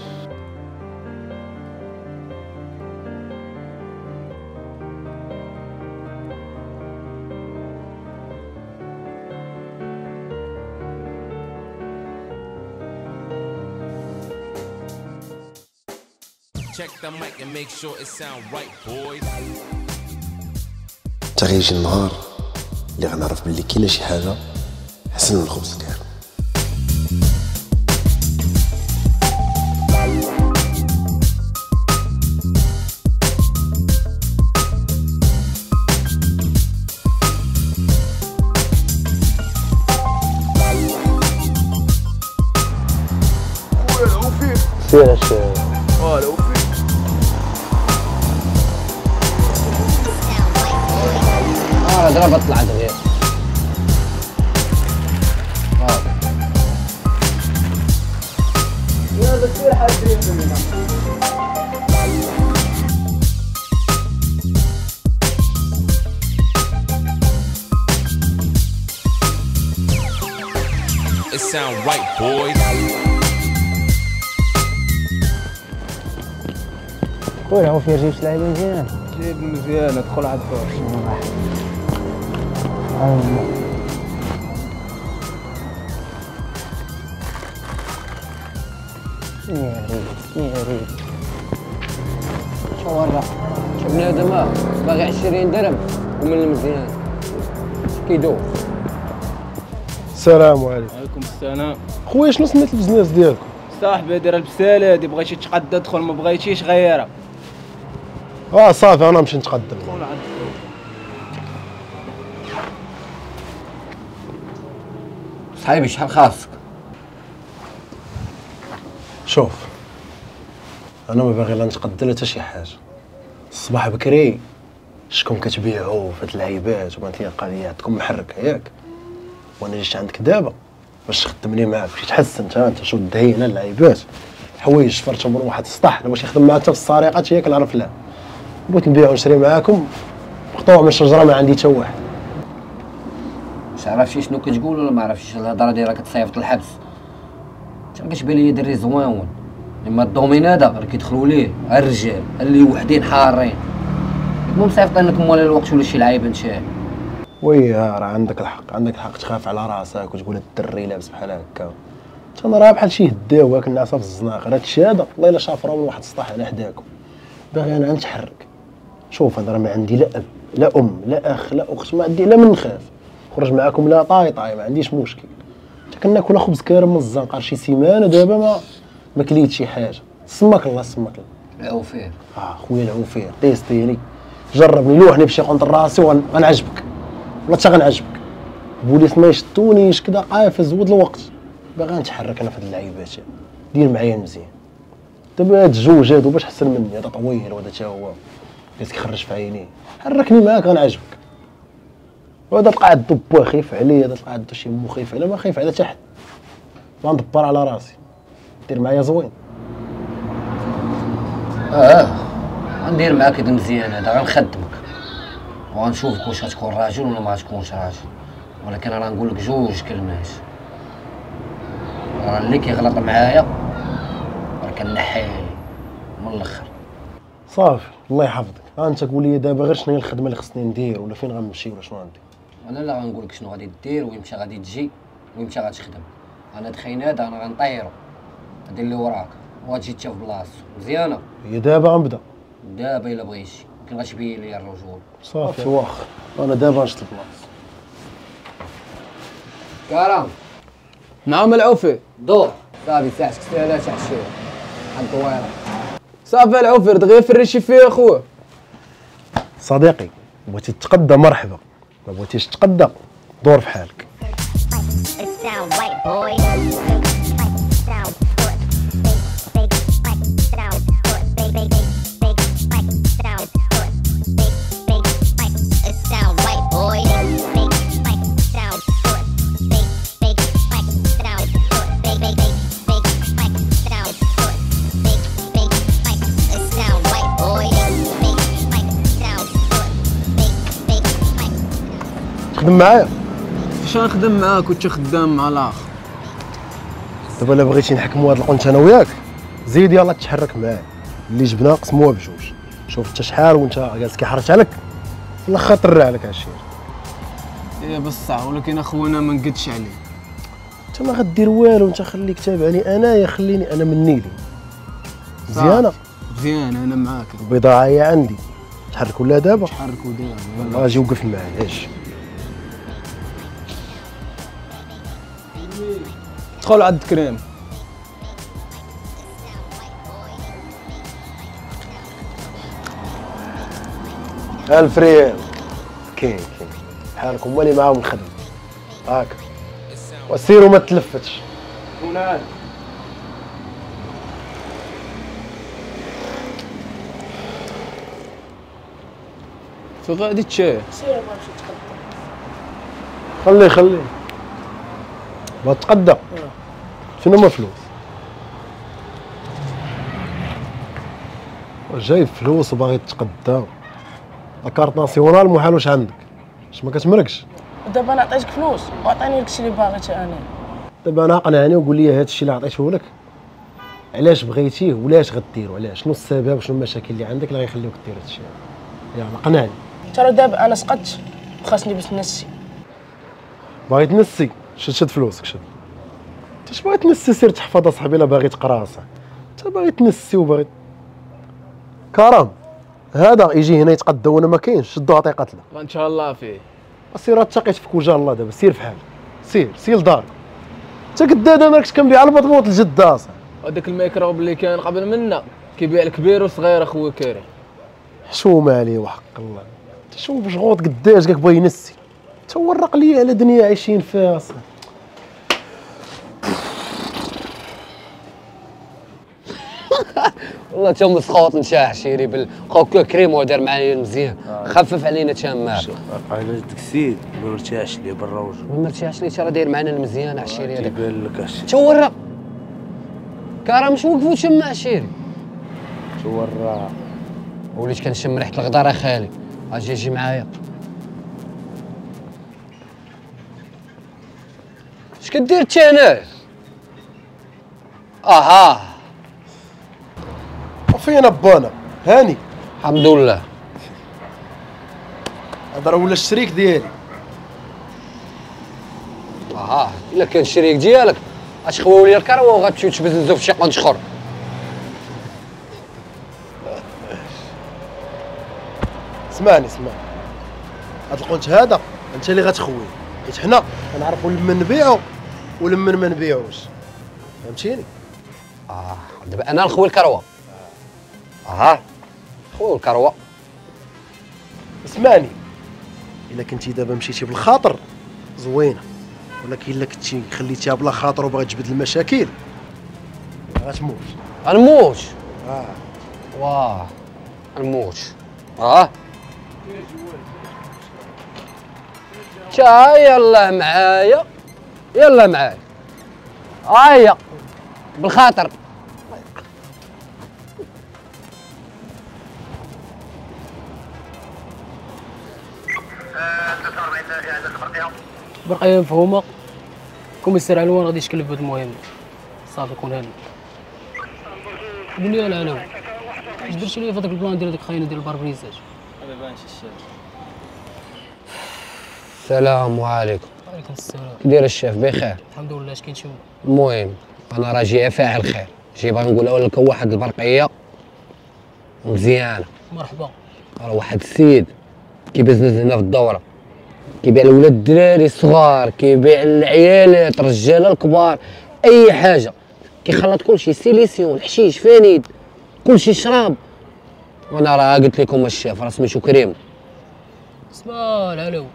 Speaker 12: Check the mic and make sure it sound right, boys.
Speaker 3: حتى غيجي النهار اللي غنعرف باللي كاينه شي حاجة احسن من الخبز الكارم.
Speaker 11: خويا العوفي
Speaker 5: سير الشارع.
Speaker 11: العوفي
Speaker 5: ضربت طلعت غير.
Speaker 9: يلا سير حبيبي.
Speaker 12: It sound right, boys.
Speaker 5: خويا عوفي جبت لعيبة مزيان.
Speaker 9: جيب مزيان، ادخل على الدور.
Speaker 5: يا ريت شو ورا شو بنادم باغي 20 درهم ومن المزيان كيدوخ.
Speaker 11: السلام عليكم.
Speaker 13: وعليكم السلام.
Speaker 11: خويا شنو سميت ال business ديالكم؟
Speaker 13: صاحبي هادي راه البساله هادي، بغيتي تقدى دخل، ما بغيتيش غيرها.
Speaker 11: صافي انا نمشي نتقدم.
Speaker 5: صحيبي شحال خاصك؟
Speaker 3: شوف انا ما باغي لا نتقدم لا حتى شي حاجة. الصباح بكري شكون كتبيعوا في هاد اللعيبات وبانت لي القضية عندكم محركة ياك، وانا جيت عندك دابا باش تخدمني معاك باش تحسن انت شو الدهينه اللعيبات حوايج شفرتهم من واحد السطح باش يخدم معاك حتى في السرقات ياك نعرف لا. بغيت نبيع ونشري معاكم مقطوع من الشجرة ما عندي حتى واحد.
Speaker 5: واش عرفتي شنو كتقول ولا ما عرفتيش؟ الهضرة ديالك كتصيفط الحبس. انت كتبان لي دري زوين، اما ال domaine هذا راه كيدخلوا ليه الرجال اللي وحدين حارين. المهم صيفط لك موالي الوقت ولا شي لعيبة انت.
Speaker 3: oui راه عندك الحق، عندك الحق تخاف على راسك وتقول الدري لابس بحال هكا. انا راه بحال شي هداوه كنعصا في الزناق. راه هادشي هذا والله الا شافروا من واحد السطح على حداكم. باغي انا نتحرك. شوف انا راه ما عندي لا اب لا ام لا اخ لا اخت، ما عندي لا من نخاف. خرج معاكم لا طاي طاي ما عنديش مشكل. حتى كناكل خبز كارم من الزنقة شي سيمانه دابا ما كليت شي حاجة. سماك الله سماك الله.
Speaker 5: العوفير.
Speaker 3: خويا العوفير تيستيني جربني لوحني بشي قنط راسي وغنعجبك والله حتى غنعجبك. البوليس ما يشدونيش كدا قافز ود الوقت. باغي نتحرك انا في هاد اللعيبات. دير معايا مزيان. دابا هاد الجوج هادو باش حسن مني، هذا طويل وهذا حتى هو جالس كيخرج في عينيه. حركني معاك غنعجبك. وهذا تلقى عندو با خايف عليا، هذا تلقى عندو شي مو خايف عليا، ما خايف على حتى حد. غندبر على راسي. دير معايا زوين.
Speaker 5: غندير معاك هذا مزيان، هذا غنخدمك وغنشوفك واش غتكون راجل ولا ما غتكونش راجل. ولكن راه نقول لك جوج كلمات، راه اللي كيغلط معايا راه كنحيه من الاخر.
Speaker 3: صافي الله يحفظك. ها انت قول لي دابا غير شنو هي الخدمة اللي خصني ندير ولا فين غنمشي ولا شنو غندير.
Speaker 14: انا لا غنقول لك شنو غادي دير ويمشي غادي تجي ويمشي غتخدم. انا دخين هذا انا غنطيرو، غادي اللي وراك وغتجي انت في بلاصتو. مزيانه؟
Speaker 3: هي دابا غنبدا
Speaker 14: دابا الا بغيتي، يمكن غتبين لي الرجول.
Speaker 3: صافي واخا انا دابا نشط البلاصة.
Speaker 14: كرم.
Speaker 13: نعم العوفي.
Speaker 14: دور صافي ساعتك ساهله تاع الشيء حد دويره.
Speaker 13: صافي العوفي دغيا فريشي فيه اخويا.
Speaker 3: صديقي بغيتي تتقدى مرحبا، ما بغيتيش تتقدى دور في حالك. تخدم معايا؟
Speaker 13: فاش غنخدم معاك وانت خدام مع الاخر؟
Speaker 3: دابا الا بغيتي نحكموا هاد القنت انا وياك زيد يلاه تحرك معايا، اللي جبنا قسموها بجوج. شوف انت شحال وانت جالس كيحرش عليك في الاخر طرع عليك عشير.
Speaker 13: ايه بصح ولكن اخونا ما نقدش عليه.
Speaker 3: انت ما غدير والو، انت خليك تابعني انايا، خليني انا مني لي. مزيانه؟
Speaker 13: مزيانه انا معاك.
Speaker 3: البضاعة هي عندي، تحرك ولا دابا؟
Speaker 13: تحركوا دابا.
Speaker 3: اجي وقف معايا اجي.
Speaker 13: دخل عند كريم.
Speaker 3: ألف ريال كاين كاين بحالك هما اللي معاهم الخدمة. هاك وسير وما تلفتش.
Speaker 13: ونعم فين غادي تشاي؟
Speaker 15: سير ما نمشي نتقدى.
Speaker 3: خليه خليه بغا تقدى. شنو هما فلوس؟ جايب فلوس وباغي تقدى. la carte nationale محال واش عندك، واش ما كتمركش؟
Speaker 15: دابا انا عطيتك فلوس وعطيني داكشي اللي باغي حتى انا.
Speaker 3: دابا انا اقنعني وقول لي هذا الشيء اللي عطيته لك علاش بغيتيه ولاش غديرو، علاش، شنو السبب وشنو المشاكل اللي عندك اللي غيخليوك دير هذا الشيء؟ يلاه قنعني.
Speaker 15: ترى دابا انا سقطت وخاصني باش نسي.
Speaker 3: باغي تنسي؟ شد شد فلوسك شد. انت اش باغي تنسي؟ سير تحفظ اصاحبي الا باغي تقرا اصاحبي. انت باغي تنسي وباغي كرم هذا يجي هنا يتقدى وانا ما كاينش، شدو عطية قتله.
Speaker 13: ان شاء الله فيه.
Speaker 3: سير تقيت فيك وجه الله دابا، سير في حالك، سير سير لدارك. انت قداد انا كنت كنبيع البطبوط لجده اصاحبي.
Speaker 13: هذاك الميكروب اللي كان قبل منا كيبيع الكبير وصغير اخويا كريم.
Speaker 3: حشومه عليه وحق الله. انت شوف مشغوط قداش قالك بغا ينسي. تورق لي على دنيا عايشين فيها اصاحبي.
Speaker 14: والله تا مسخوط نتا عشيري خوك كريم ودار معايا مزيان، خفف علينا تما.
Speaker 16: على داك السيد ما مرتاحش ليه برا وجهه.
Speaker 14: ما مرتاحش ليه راه داير معنا المزيان عشيري هذاك.
Speaker 16: تيبان لك عشيري.
Speaker 14: تورا كرم شو وقفوا تما عشيري.
Speaker 16: تورا
Speaker 14: وليت كنشم ريحه الغدار اخالي. اجي اجي معايا. اش كدير انت هنا؟ اها
Speaker 3: فين بانا هاني؟
Speaker 14: الحمد لله.
Speaker 3: هذا راه ولا الشريك ديالي.
Speaker 14: اها الا كان الشريك ديالك اش خواو لي الكروه وغتمشيو تبزنزو في شي قنت اخر.
Speaker 3: اسمعني اسمعني، هاد القنت هذا انت اللي غتخويه، حيت حنا كنعرفوا لمن نبيعو ولمن ما نبيعوش، فهمتيني؟
Speaker 14: دابا انا نخوي الكروه. اها خويا الكروه.
Speaker 3: اسمعني، الا كنتي دابا مشيتي بالخاطر زوينة، ولكن الا كنتي خليتيها بلا خاطر وبغيت تجبد المشاكل غتموت.
Speaker 14: غنموت؟ واه غنموت. تا يلا معايا يلا معايا هيا بالخاطر.
Speaker 15: برقية مفهومة. commissaire علوان غادي يشكل بهاد المهمة. صافي كون هاني. قول لي العناوين. اش درتي لي في هذاك ال plan ديال هذيك خاينه ديال الباربريزات؟
Speaker 5: ما بانش الشاف.
Speaker 14: السلام عليكم.
Speaker 15: وعليكم السلام.
Speaker 14: كي داير الشيف؟ بخير
Speaker 15: الحمد لله. اش كاين شي؟
Speaker 14: المهم انا راه جاي فاعل خير، جاي باغي نقول لك واحد البرقيه مزيانه.
Speaker 15: مرحبا.
Speaker 14: راه واحد السيد كيبزنز هنا في الدورة، كيبيع لولاد الدراري الصغار، كيبيع العيالات، الرجالة الكبار، اي حاجة، كيخلط كلشي، solution، حشيش، فانيد، كلشي، شراب. وانا راه قلت لكم الشيف راه سميتو كريم.
Speaker 15: اسمع العلو،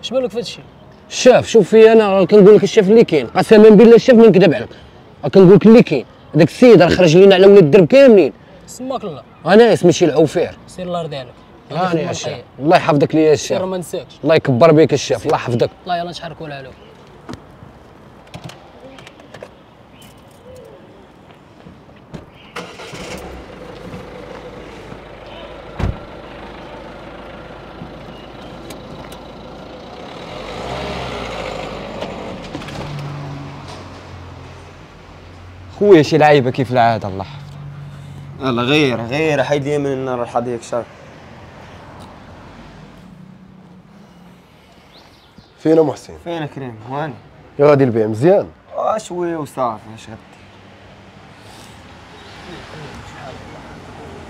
Speaker 15: اش بالك في هادشي؟
Speaker 14: الشاف شوف فيا، انا راه كنقول لك الشاف اللي كاين، قسما بالله الشاف ما نكذب عليك، كنقول لك اللي كاين. هذاك السيد راه خرج لينا على ولاد الدرب كاملين.
Speaker 15: سماك الله.
Speaker 14: انا سميتي العوفير.
Speaker 15: سير الله يرضي عليك.
Speaker 14: هاني يا الشيف، الله يحفظك ليا الشيف.
Speaker 15: سير ما نساكش.
Speaker 14: الله يكبر بك الشيف، الله يحفظك.
Speaker 15: الله يلا نتحركوا العلو.
Speaker 5: خويا شي لعيبة كيف العادة الله يحفظك.
Speaker 11: يلا غير غير حيد لي من النار الحظيك شر.
Speaker 3: فين محسن؟
Speaker 11: فين كريم؟ وين؟
Speaker 3: يا غادي البيع مزيان؟
Speaker 11: شوية وصافي. اش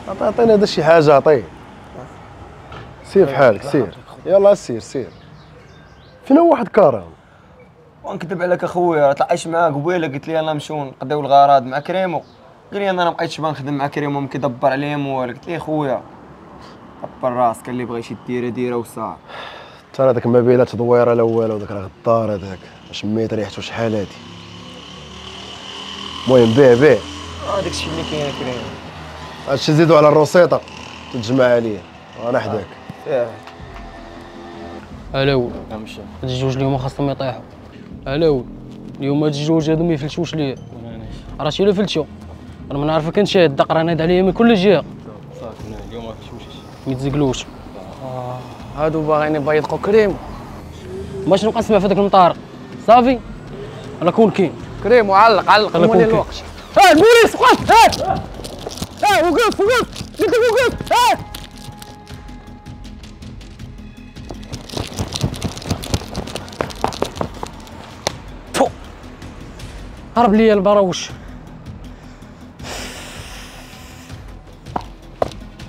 Speaker 11: غدي؟
Speaker 3: عطينا هذا شي حاجة، عطية. سير في حالك سير، يلا سير سير. فين هو واحد كرم؟
Speaker 11: ونكذب عليك اخويا، طلعت معاه قبيلة قلت لي يلاه نمشيو نقضيو الغراض مع كريمو، قال لي انا ما بقيتش بنخدم مع كريمو، ما كيدبر عليهم والو. قلت ليه خويا دبر راسك، اللي بغيتي ديرة ديرة وصافي.
Speaker 3: ترى هذاك ما بين لا تدويره لا والو، داك راه غدار هذاك، شميت ريحته شحال هادي. المهم بيع بيع.
Speaker 11: داكشي اللي كاين كريم.
Speaker 3: هادشي زيدو على الروسيطه تتجمع عليا، انا حداك.
Speaker 15: الو هاد الجوج اليوم خاصهم يطيحوا. الو اليوم هاد الجوج هادو ما يفلتوش ليا، راه شي الا فلتو راه ما نعرفك انت، الدق راه نايض عليا من كل جهة.
Speaker 5: صافي اليوم ما فلتوش،
Speaker 15: ما يتزقلوش.
Speaker 5: هادو باغيين يبيضقوا كريم.
Speaker 15: ماش نبقى نسمع في هذاك المطار. صافي انا كون كاين
Speaker 5: كريم وعلق علق مولي الوقت.
Speaker 15: البوليس وقف. وقف وقف قلت لك وقف. هرب ليا البراوش.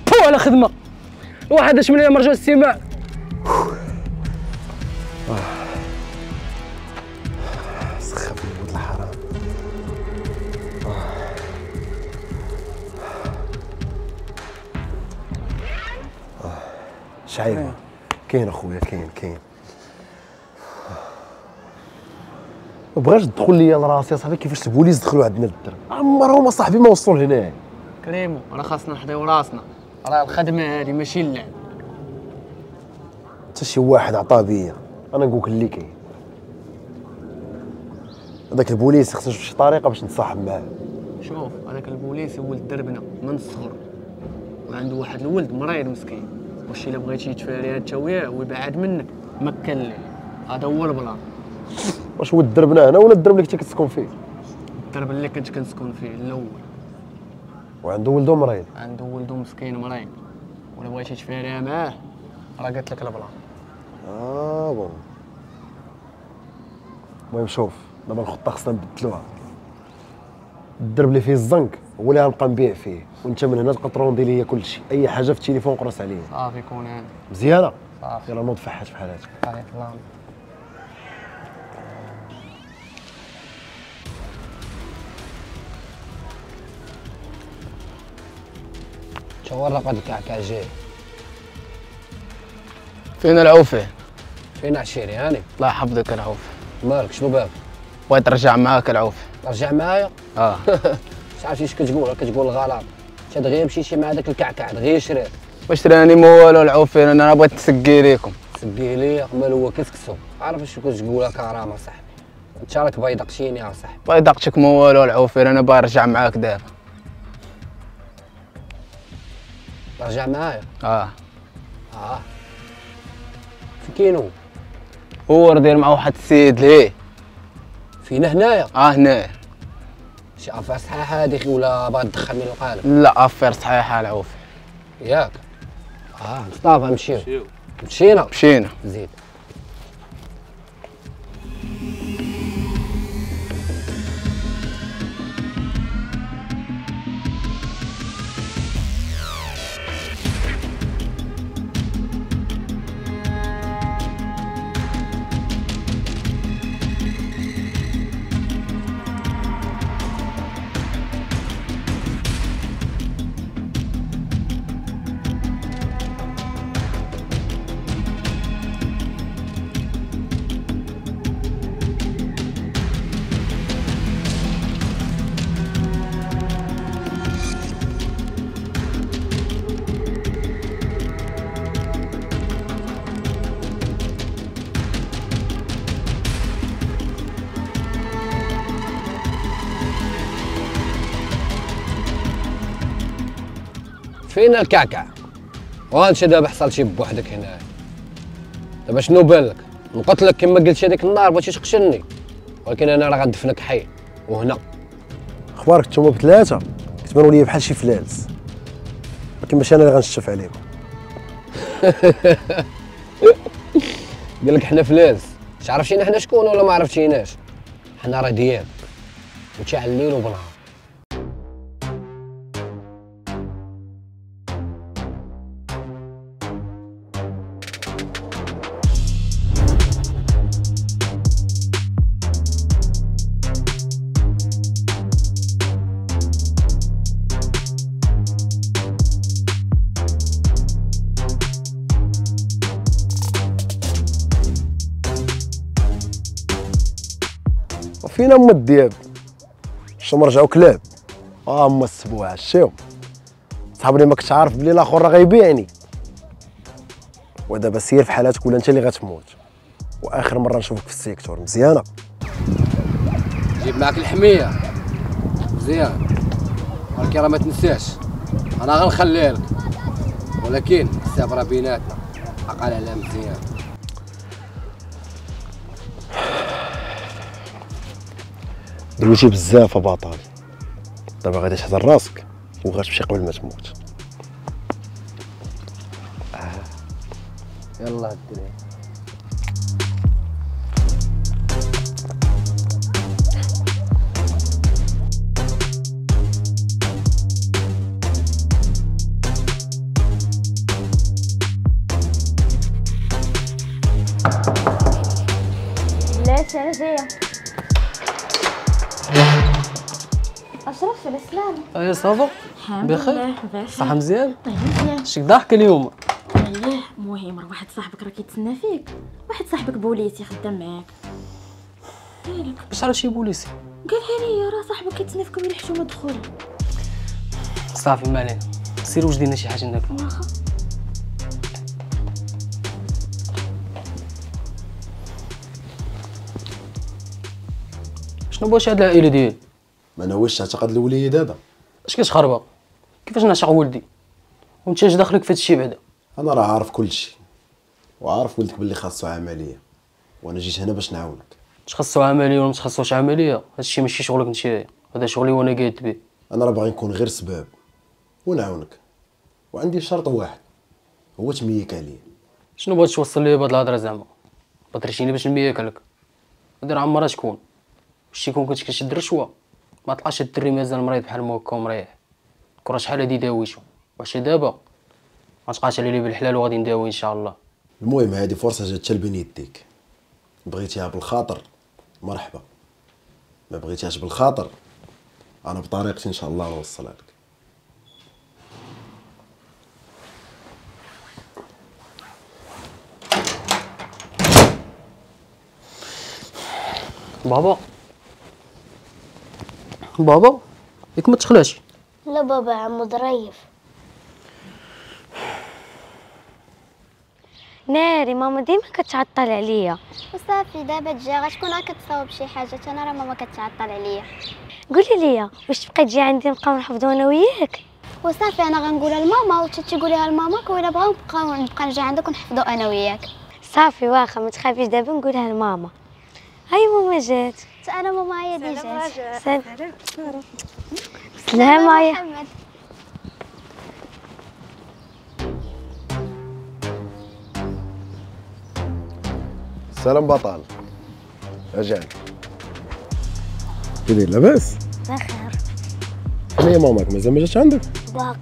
Speaker 15: بو على خدمة واحد اش من مرجع السماء.
Speaker 3: سخفني ولد الحرام. شعيبه كاين اخويا، كاين كاين. ما بغاش تدخل ليا لراسي اصاحبي كيفاش البوليس دخلوا عندنا للدرب، عمرهم اصاحبي ما وصلوا لهنا.
Speaker 5: كريمو راه خاصنا نحضيو راسنا، راه الخدمة هذه ماشي اللعب.
Speaker 3: حتى شي واحد عطاه بيا، انا نقولك اللي كاين. هذاك البوليس خصنا نشوف شي طريقه باش نتصاحب معاه.
Speaker 5: شوف هذاك البوليس ولد دربنا من الصغر، وعنده واحد الولد مريض مسكين، واش الا بغيتي تفاريها انت وياه ويبعد منك مكن ليه. هذا هو ال plan.
Speaker 3: واش هو دربنا هنا ولا الدرب اللي كنتي كتسكن فيه؟
Speaker 5: الدرب اللي كنت كنسكن فيه الاول.
Speaker 3: وعنده ولدو مريض؟
Speaker 5: عنده ولدو مسكين مريض، ولا بغيتي تفاريها معاه راه قالت لك ال plan.
Speaker 3: Bon. المهم شوف دابا الخطة خصنا نبدلوها. الدرب اللي فيه الزنك هو اللي غنبقى نبيع فيه، وانت من هنا تبقى تروندي ليا كلشي، اي حاجة في التليفون قرص عليا.
Speaker 5: صافي كون هاني.
Speaker 3: مزيانه؟
Speaker 5: صافي.
Speaker 3: يلا نوض فحات بحال هاتك.
Speaker 5: صافي الله.
Speaker 14: شو ورقة الكعكة جاي؟
Speaker 1: فين العوفي؟
Speaker 14: فين عشيري هاني؟
Speaker 1: الله يحفظك العوفي.
Speaker 14: مالك شنو باب؟
Speaker 1: بغيت نرجع معاك العوفي.
Speaker 14: ترجع معايا؟
Speaker 1: اه.
Speaker 14: مش عارف اش كتقول، كتقول الغلط. انت دغيا مشيتي مع داك الكعكع دغيا شريت.
Speaker 1: واش راني ما والو العوفي، انا بغيت نسقي ليكم.
Speaker 14: تسقي ليا؟ مال هو كسكسو. عارف اش كتقول كرامة صاحبي. انت راك بيضقتيني يا صاحبي.
Speaker 1: بيضقتك ما والو العوفي، انا باغي نرجع معاك دابا.
Speaker 14: ترجع معايا؟
Speaker 1: اه.
Speaker 14: اه. فين كاينو؟
Speaker 1: هو راه داير مع واحد السيد ليه.
Speaker 14: فينا هنايا؟
Speaker 1: اه هنايا.
Speaker 14: شي affaire صحيحه هذيك ولا باغي تدخلني للقالب؟
Speaker 5: لا affaire صحيحه العوف.
Speaker 14: ياك مصطفى نمشيو. مشينا
Speaker 1: مشينا.
Speaker 14: زيد. فين الكعكع؟ وانت دابا حصل شي بوحدك هنا. دابا شنو بان لك؟ نقتلك كما قلت هذيك النهار بغيتي تقتلني، ولكن انا راه غندفنك حي وهنا.
Speaker 3: اخبارك نتوما بثلاثة كتبانوا لي بحال شي فلالس، ولكن ماشي انا اللي غنشف عليكم.
Speaker 14: قال لك حنا فلالس، عرفتينا حنا شكون ولا ما عرفتيناش؟ حنا راه دياب وانت على الليل وبالنهار.
Speaker 3: فينا هما الدياب شنو رجعوا كلاب. هما السبوعه شتيهم صاحبني، ما كنتش عارف بلي الاخر راه غيبيعني. ودابا سير في حالاتك ولا انت اللي غتموت، واخر مرة نشوفك في ال secteur. مزيانه؟
Speaker 14: جيب معاك الحمية مزيان، ولكن راه ما تنساش انا غنخليها لك، ولكن الحساب راه بيناتنا، عقل عليها مزيان.
Speaker 3: دويتي بزاف بطل، دابا غادي تحضر راسك وغتمشي قبل ما تموت.
Speaker 14: يلا الدراري.
Speaker 4: بلاتي انا جاية. اشرف على السلامة.
Speaker 15: ايوا ça va؟ بخير؟ صحة مزيان؟
Speaker 4: مزيان.
Speaker 15: شك ضحك اليوم؟
Speaker 4: اييه. المهم راه واحد صاحبك راه كيتسنى فيك، واحد صاحبك بوليسي خدام معاك. مالك؟
Speaker 15: باش عرف شي بوليسي؟
Speaker 4: قالها لي راه صاحبك كيتسنى فيكم الا حشومه دخول.
Speaker 15: صافي ما علينا، سير وجدي لنا شي حاجة ناكلو.
Speaker 4: واخا.
Speaker 15: شنو بغيتي هاد العائلة ديالي؟
Speaker 3: ما ناويش تعتقد الوليد هذا؟
Speaker 15: اش كتخربق؟ كيفاش نعشق ولدي؟ وانت اش دخلك في هادشي بعدا؟
Speaker 3: انا راه عارف كلشي، وعارف ولدك باللي خاصو عملية، وانا جيت هنا باش نعاونك.
Speaker 15: اش خاصو عملية ولا ما خاصوش عملية؟ هادشي ماشي شغلك انت، هذا شغلي وانا قاعد به.
Speaker 3: انا راه باغي نكون غير سباب ونعاونك، وعندي شرط واحد هو تميك عليا.
Speaker 15: شنو بغيت توصل لي بهاد الهضرة زعما؟ بغيتيني باش نميك عليك؟ هادي راه عمرها تكون. واش تيكون كنت كتشد رشوة ما تلقاش الدري مازال مريض بحال ما هكا ومريح. كره شحال هادي داويتو، واش دابا ما تبقاش علي لي بالحلال وغادي نداوي ان شاء الله.
Speaker 3: المهم هادي فرصة جات حتى لبين يديك، بغيتيها بالخاطر مرحبا، ما بغيتيهاش بالخاطر انا بطريقتي ان شاء الله نوصلها لك.
Speaker 15: بابا بابا ياك ما تخلاش؟
Speaker 4: لا بابا عمو ظريف.
Speaker 2: ناري ماما ديما كتعطل عليا.
Speaker 4: وصافي دابا تجي غتكون كتصاوب شي حاجة، انا راه ماما كتعطل عليا.
Speaker 2: قولي لي واش تبقاي تجي عندي نبقاو نحفظوا انا وياك؟
Speaker 4: وصافي انا غنقولها لماما وانت تقوليها لماماك، ولا بغاو نبقى نجي عندك ونحفظوا انا وياك.
Speaker 2: صافي واخا ما تخافيش، دابا نقولها لماما.
Speaker 6: هاي ماما جات. حتى انا ماما هي اللي جات. سلام سلام يا محمد.
Speaker 3: سلام بطل. رجعنا. كي داير لاباس؟
Speaker 6: بخير.
Speaker 3: فين هي ماماك مازال ما جاتش عندك؟
Speaker 6: باقي.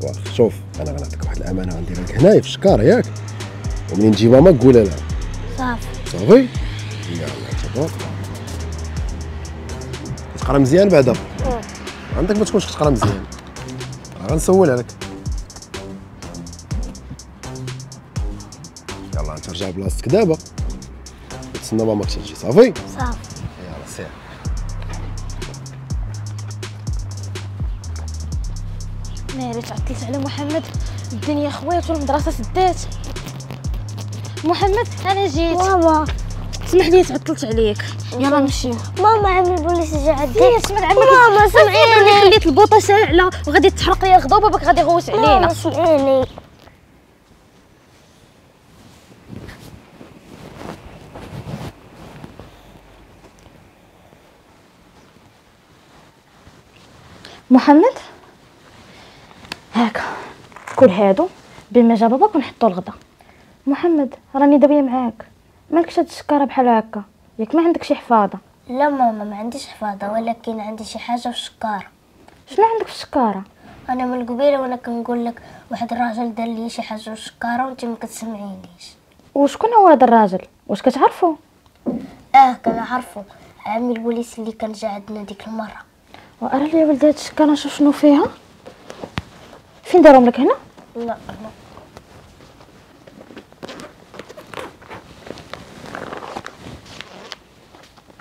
Speaker 3: واخا شوف انا غنعطيك واحد الامانة غنديرها لك هنايا في الشكاره ياك، ومنين تجي ماماك قولها لها.
Speaker 6: صافي
Speaker 3: صافي؟ يلا تفضل. كتقرا مزيان بعدا؟ عندك ما تكونش كتقرا مزيان غنسول عليك. يلا انت رجع بلاصتك دابا وتسنى ماماك تجي. صافي؟
Speaker 6: صافي.
Speaker 3: يلا سير.
Speaker 4: ناري تعطلت على محمد، الدنيا خوات والمدرسة سدات. محمد انا جيت.
Speaker 6: ماما
Speaker 4: سمح لي تعطلت عليك، يلا نمشيو.
Speaker 6: ماما عمي البوليس جا عندي.
Speaker 4: سمع عمك.
Speaker 6: ماما سمعيني،
Speaker 4: خليت البوطه شاعله وغادي تحرق لي الغدا وباباك غادي يغوت علينا.
Speaker 6: ماما سمعيني.
Speaker 4: محمد هاكا كل هادو بما جا باباك ونحطو الغدا. محمد راني داويه معاك، مالكش هاد الشكاره بحال هكا، ياك ما عندك شي حفاظه؟
Speaker 6: لا ماما ما عنديش حفاظه، ولكن عندي شي حاجة في الشكاره.
Speaker 4: شنو عندك في الشكاره؟
Speaker 6: انا من قبيلة وانا كنقول لك واحد الراجل دار لي شي حاجة في الشكاره وانت ما كتسمعينيش.
Speaker 4: وشكون هو هذا الراجل؟ واش كتعرفو؟
Speaker 6: كنعرفو، عمي البوليس اللي كان جا عندنا ديك المرة.
Speaker 4: وارى لي ولدي هاد الشكاره نشوف شنو فيها. فين دارهم لك هنا؟
Speaker 6: لا لا.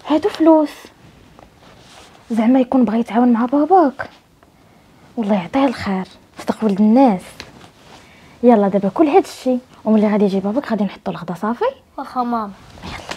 Speaker 4: هادو فلوس، زعما يكون بغى يتعاون مع باباك. والله يعطيه الخير، صدق ولد الناس. يلا دابا كل هاد الشيء وملي غادي يجي باباك غادي نحطو الغدا. صافي؟
Speaker 6: واخا ماما.
Speaker 4: يلا.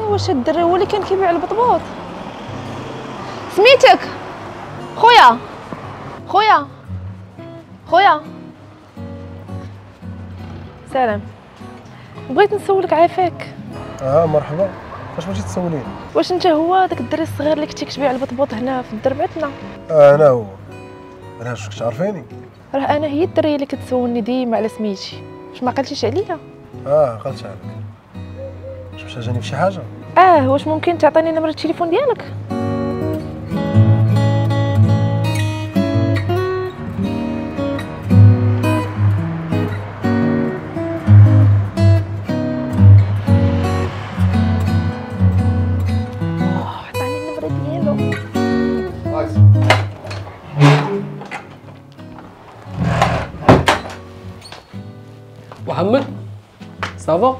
Speaker 8: واش الدري هو اللي كان كيبيع البطبوط؟ سميتك خويا؟ خويا خويا سلام، بغيت نسولك عافاك.
Speaker 3: مرحبا، واش بغيتي تسوليني؟
Speaker 8: واش انت هو داك الدري الصغير اللي كنتي كتبيع البطبوط هنا في الدرب عندنا؟
Speaker 3: انا هو. انا واش كتعرفيني؟
Speaker 8: راه انا هي الدريه اللي كتسولني ديما على سميتي، واش ما عقلتيش عليا؟
Speaker 3: عقلت عليك. واش محتاجاني بشي حاجة؟
Speaker 8: واش ممكن تعطيني نمره التليفون ديالك؟ عطاني النمرة ديالو.
Speaker 15: محمد ça va؟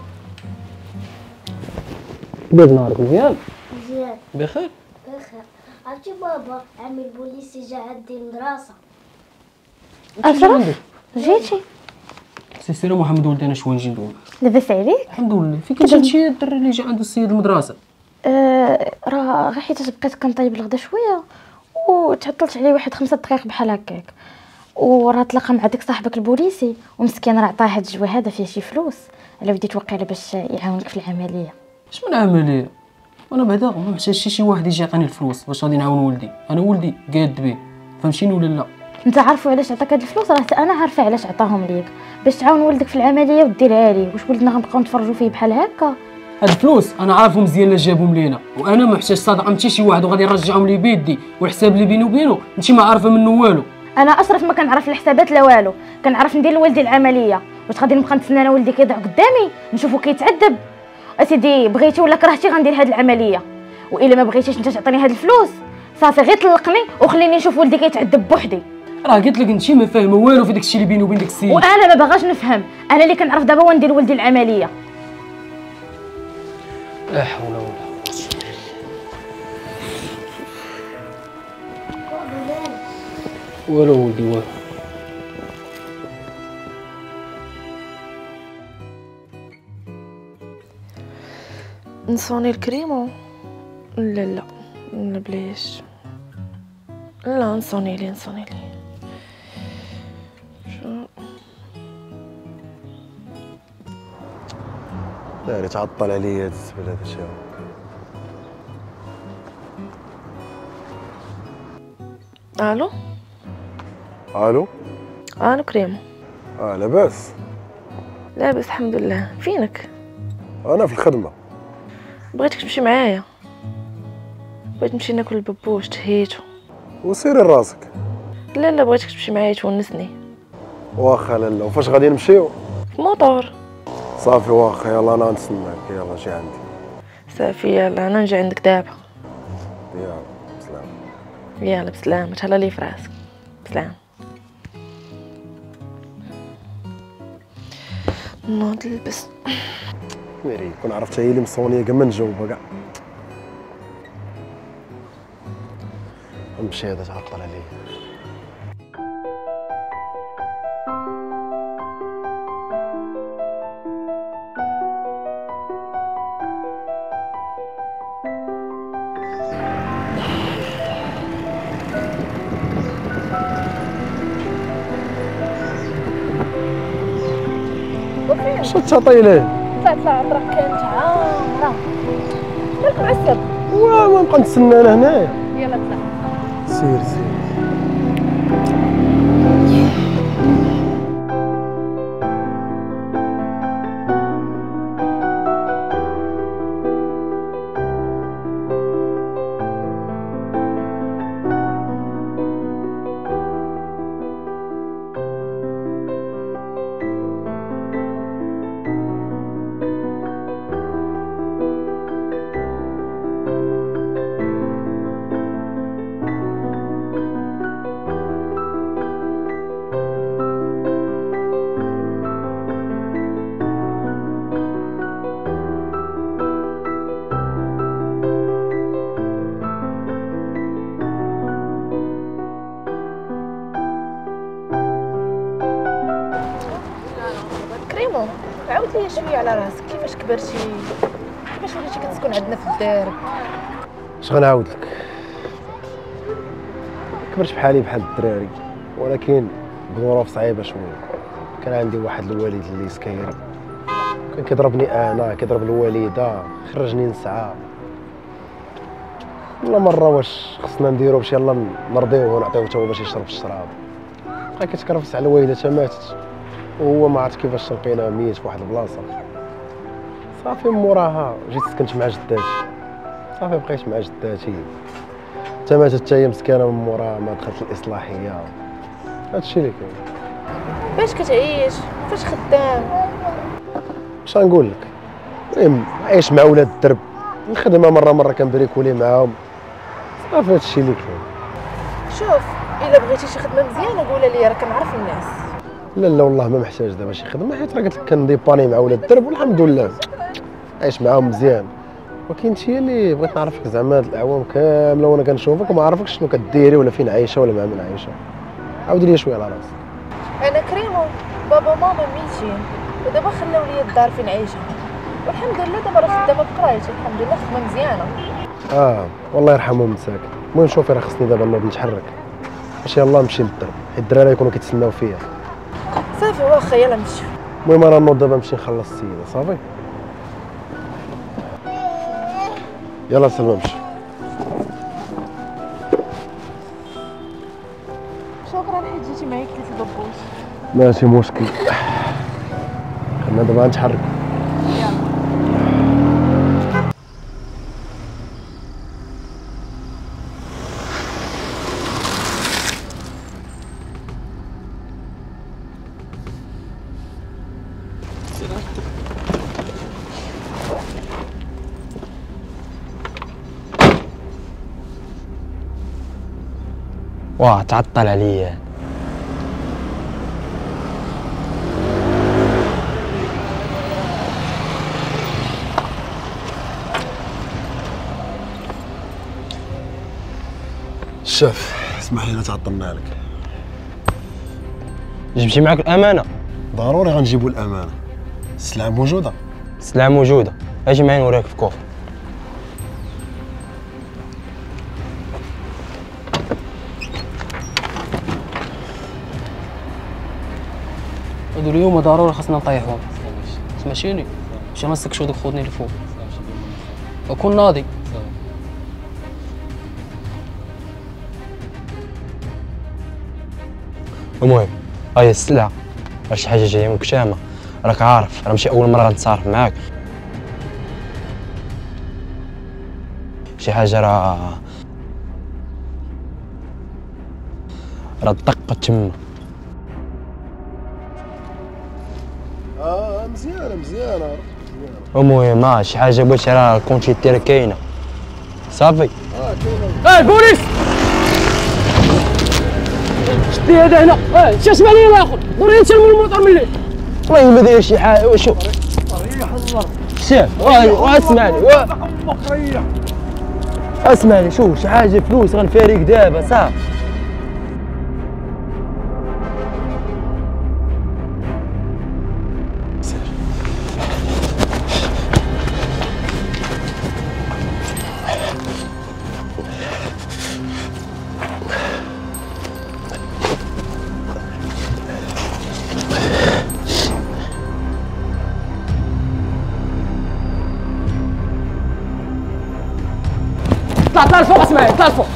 Speaker 15: بيض نهارك مزيان؟
Speaker 6: مزيان.
Speaker 15: بخير؟
Speaker 6: بخير. عرفتي بابا عمي البوليسي جا عندي المدرسة.
Speaker 4: أشرف جيتي؟
Speaker 15: سير محمد ولدي انا شوية نجي ندوي.
Speaker 4: لاباس عليك؟
Speaker 15: الحمد لله. فين كنت هادشي الدري اللي جا عند السيد المدرسة؟
Speaker 4: راه غير حيت بقيت كنطيب الغدا شوية وتعطلت عليه واحد 5 دقائق بحال هكاك، وراه تلاقى مع داك صاحبك البوليسي ومسكين راه عطاه هاد الجوا هذا فيه شي فلوس على ودي توقع له باش يعاونك في العملية.
Speaker 15: اش من عملية؟ انا بعدا ما محتاجش شي واحد يجي يعطيني الفلوس باش غادي نعاون ولدي، انا ولدي قاد به، فهمتيني ولا لا؟
Speaker 4: انت عارفه علاش عطاك هاد الفلوس؟ راه حتى انا عارفه علاش عطاهم ليك، باش تعاون ولدك في العملية وديرها ليه. واش ولدنا غنبقاو نتفرجوا فيه بحال هكا؟
Speaker 15: هاد الفلوس انا عارفهم مزيان لا جابهم لينا، وانا ما محتاج صدقه من شي واحد وغادي نرجعهم لي بيدي، والحساب اللي بيني وبينه انت ما عارفه منه والو.
Speaker 4: انا اشرف ما كنعرف الحسابات لا والو، كنعرف ندير لولدي العملية. واش غادي نبقى نتسنى انا ولدي كيضيع قدامي نشوفو كيتعذب؟ اسيدي بغيتي ولا كرهتي غندير هاد العملية، والا ما بغيتيش انت تعطيني هاد الفلوس صافي غير طلقني وخليني نشوف ولدي كيتعذب بوحدي.
Speaker 15: راه قلت لك انت ما فاهمه والو في داك الشيء اللي بيني وبين داك السيد،
Speaker 4: وانا ما باغاش نفهم. انا اللي كنعرف دابا هو ندير ولدي العملية.
Speaker 15: لا حول ولا قوة. والو ولدي والو.
Speaker 17: نصوني الكريمو؟ لا لا لا بلاش، لا نصوني لي نصوني لي.
Speaker 3: لا تعطل عليا هاد الزبل هذا شاو.
Speaker 17: الو
Speaker 3: الو
Speaker 17: الو كريم.
Speaker 3: لاباس؟
Speaker 17: لاباس الحمد لله. فينك؟
Speaker 3: انا في الخدمة.
Speaker 17: بغيتك تمشي معايا، بغيت نمشي ناكل الببوش تهيتو.
Speaker 3: وسيري راسك.
Speaker 17: لا لا بغيتك تمشي معايا تونسني.
Speaker 3: واخا لالا، وفاش غادي نمشيو؟
Speaker 17: في موطور.
Speaker 3: صافي واخا، يلا انا نتسناك، يلا جي عندي.
Speaker 17: صافي يلا انا نجي عندك دابا.
Speaker 3: يلا بسلامة.
Speaker 17: يلا بسلامة، تهلا لي في راسك. بسلامة. نوض نلبس.
Speaker 3: ميري كون عرفت هي اللي مصونيه كاع ما نجاوبها كاع. نمشي هذا تعطل عليا. شو تعطي ليه؟
Speaker 17: طلع الطريق كانت عامرة. مالك معصب؟
Speaker 3: وا ما نبقى نتسنى انا هنايا.
Speaker 17: يلا طلع.
Speaker 3: سير سير.
Speaker 17: كريمو عاود لي شوية على راسك، كيفاش كبرتي، كيفاش وليتي كتسكن عندنا في الدار؟
Speaker 3: اش غنعاود لك؟ كبرت بحالي بحال الدراري، ولكن بظروف صعيبة شوية. كان عندي واحد الوالد اللي سكير، كان كيضربني انا، كيضرب الوالدة، خرجني نسعى. كل مرة واش خصنا نديرو باش يلا نرضيوه ونعطيوه حتى هو باش يشرب الشراب. بقى كيتكرفس على الوالدة حتى ماتت، وهو ما عرفت كيفاش لقينا ميت في واحد البلاصة. صافي موراها جيت سكنت مع جداتي، صافي بقيت مع جداتي حتى ماتت حتى هي مسكينه. من موراها ما دخلت الاصلاحية. هادشي اللي كاين.
Speaker 17: باش كتعيش؟ فاش خدام؟
Speaker 3: اش غنقول لك، المهم عايش مع ولاد الدرب، الخدمة مرة مرة كنبريكولي معاهم. صافي هادشي اللي كاين.
Speaker 17: شوف الا بغيتي شي خدمة مزيانه قولها لي، راه كنعرف الناس.
Speaker 3: لا لا والله ما محتاج دابا شي خدمة، حيت راه قلت لك كنديباني مع ولاد الدرب والحمد لله عايش معاهم مزيان. ولكن انت اللي بغيت نعرفك زعما هاد الاعوام كاملة وانا كنشوفك وما عرفكش شنو كديري ولا فين عايشه ولا مع من عايشه. عاودي لي شوية على راسك.
Speaker 17: انا كريمو بابا وماما ميتين، ودابا خلاو لي الدار فين عايشه، والحمد لله دابا راه خدامه بقرايتي الحمد لله، خدمة مزيانه.
Speaker 3: والله يرحمهم مساكن. المهم شوفي راه خصني دابا نوض نتحرك باش يلاه نمشي للدرب، حيت الدراري يكونوا كيتسناو فيا.
Speaker 17: صافي واخا يلا نمشيو.
Speaker 3: المهم انا نوض دابا نمشي نخلص السيدة. صافي يلا سلمى مشي.
Speaker 17: شكرا حيت جيتي معايا كليت الببوش.
Speaker 3: ماشي مشكل، خلينا دابا نتحرك.
Speaker 17: يلا.
Speaker 14: واه تعطل عليا.
Speaker 3: الشاف اسمح لينا تعطلنا لك.
Speaker 14: جبتي معاك الامانة؟
Speaker 3: ضروري غنجيبوا الامانة. السلعة موجودة؟
Speaker 14: السلعة موجودة، اجي معايا نوريك في coffre.
Speaker 15: هادو اليوم ضروري خاصنا نطيحوهم، سمعتيني؟ باش ما نسكشو دوك خوتني الفوق. وكون ناضي.
Speaker 14: المهم هاي السلعة، راه شي حاجة جاية من كشامه، راك عارف راه ماشي اول مرة غنتصارف معاك. شي حاجة راه الدقة تما.
Speaker 3: مزيانه مزيانه.
Speaker 14: المهم شي حاجة بغيتي راه ال quantité راه كاينه. صافي.
Speaker 3: كاينه.
Speaker 15: البوليس شدي هذا هنا. شاش عليا الاخر ضروري نسلم الموطور من الليل.
Speaker 14: والله ما داير شي حاجة. شوف
Speaker 9: ريح الله
Speaker 14: شاف، واسمعني
Speaker 9: ريح
Speaker 14: اسمعني. شوف شي حاجة فلوس غنفاريك دابا صافي.
Speaker 15: طلع طلع الفوق اسماعيل، طلع الفوق.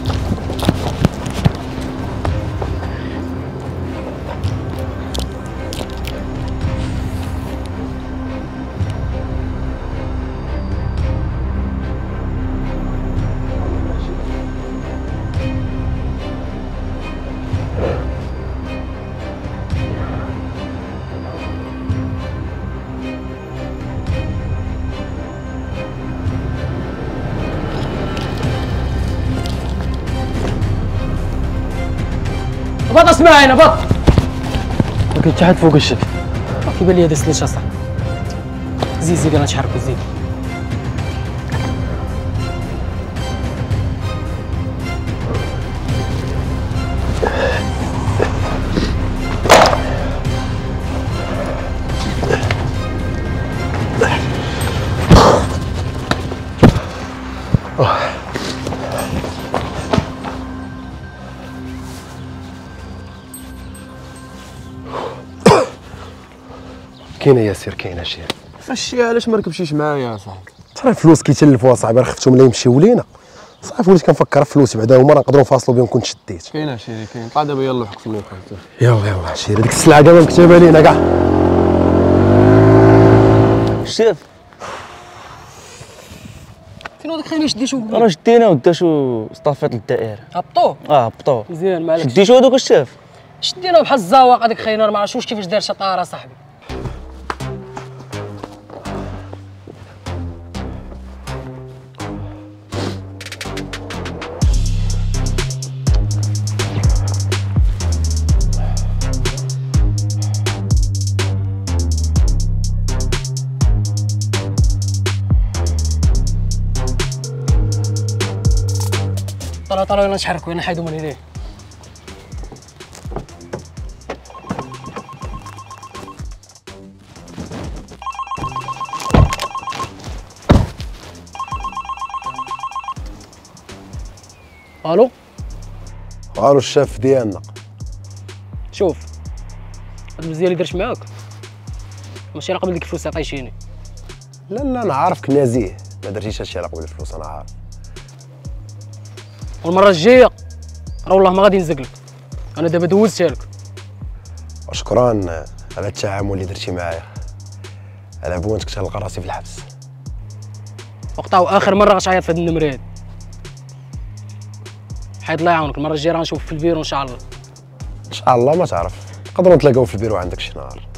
Speaker 15: بط اسماعيل بط.
Speaker 14: ما كاين حتى حد فوق الشك.
Speaker 15: كيبان لي هذا سليش اصاحبي. زيد زيد يلاه نتحركوا زيد.
Speaker 3: كاينه ياسر، كاينه شي.
Speaker 11: فاش علاش ما ركبتيش معايا يا صاحبي؟
Speaker 3: ترى الفلوس كيتلفوا اصاحبي، راه خفتهم لا يمشيو لينا. صافي وليت كنفكر في فلوسي بعدا، هما راه نقدروا نفاصلوا بهم كنت شديت.
Speaker 11: كاينه شيري كاين. طلع دابا يلاه حك في اللوحة.
Speaker 3: يلا يلا شيري، ديك السلعة كاع مكتوبة لينا كاع.
Speaker 16: شاف
Speaker 15: فين هذاك خليني شديتو؟
Speaker 16: راه شدينا وداتو صطافيط للدائره.
Speaker 15: هبطوه؟
Speaker 16: هبطوه
Speaker 15: مزيان. معليش
Speaker 16: شديتو هذوك الشاف؟
Speaker 15: شدينا بحال الزواق هذاك خينا، ما عرفتش كيفاش دار شي طاره صاحبي. طلع طلع يلا نتحركوا، يلا نحيدوا من هنا. الو
Speaker 3: الو الشاف ديالنا.
Speaker 15: شوف هاد المزيان اللي درت معاك ماشي على قبل ديك الفلوس عطيتيني.
Speaker 3: لا لا انا عارفك نزيه، ما درتيش هادشي على قبل الفلوس، انا عارف.
Speaker 15: والمرة الجاية راه والله ما غادي نزقلك، انا دابا دوزتها لك.
Speaker 3: شكرا على التعامل اللي درتي معايا، على بونتك تلقى راسي في الحبس.
Speaker 15: وقطعوا اخر مرة غتعيط في هاد النمرة هادي. حيد الله يعاونك، المرة الجاية راه نشوف في البيرو ان شاء الله.
Speaker 3: ان شاء الله ما تعرف، نقدروا نتلاقاو في البيرو عندك شي نهار.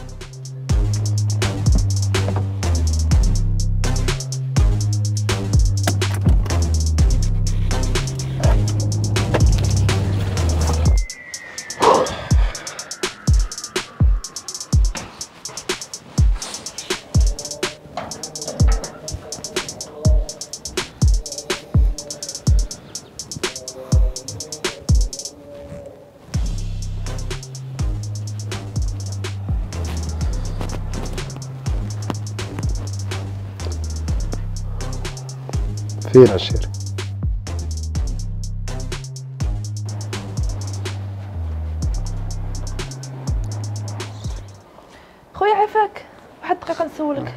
Speaker 3: فين عشيري؟
Speaker 17: خويا عافاك واحد الدقيقة نسولك،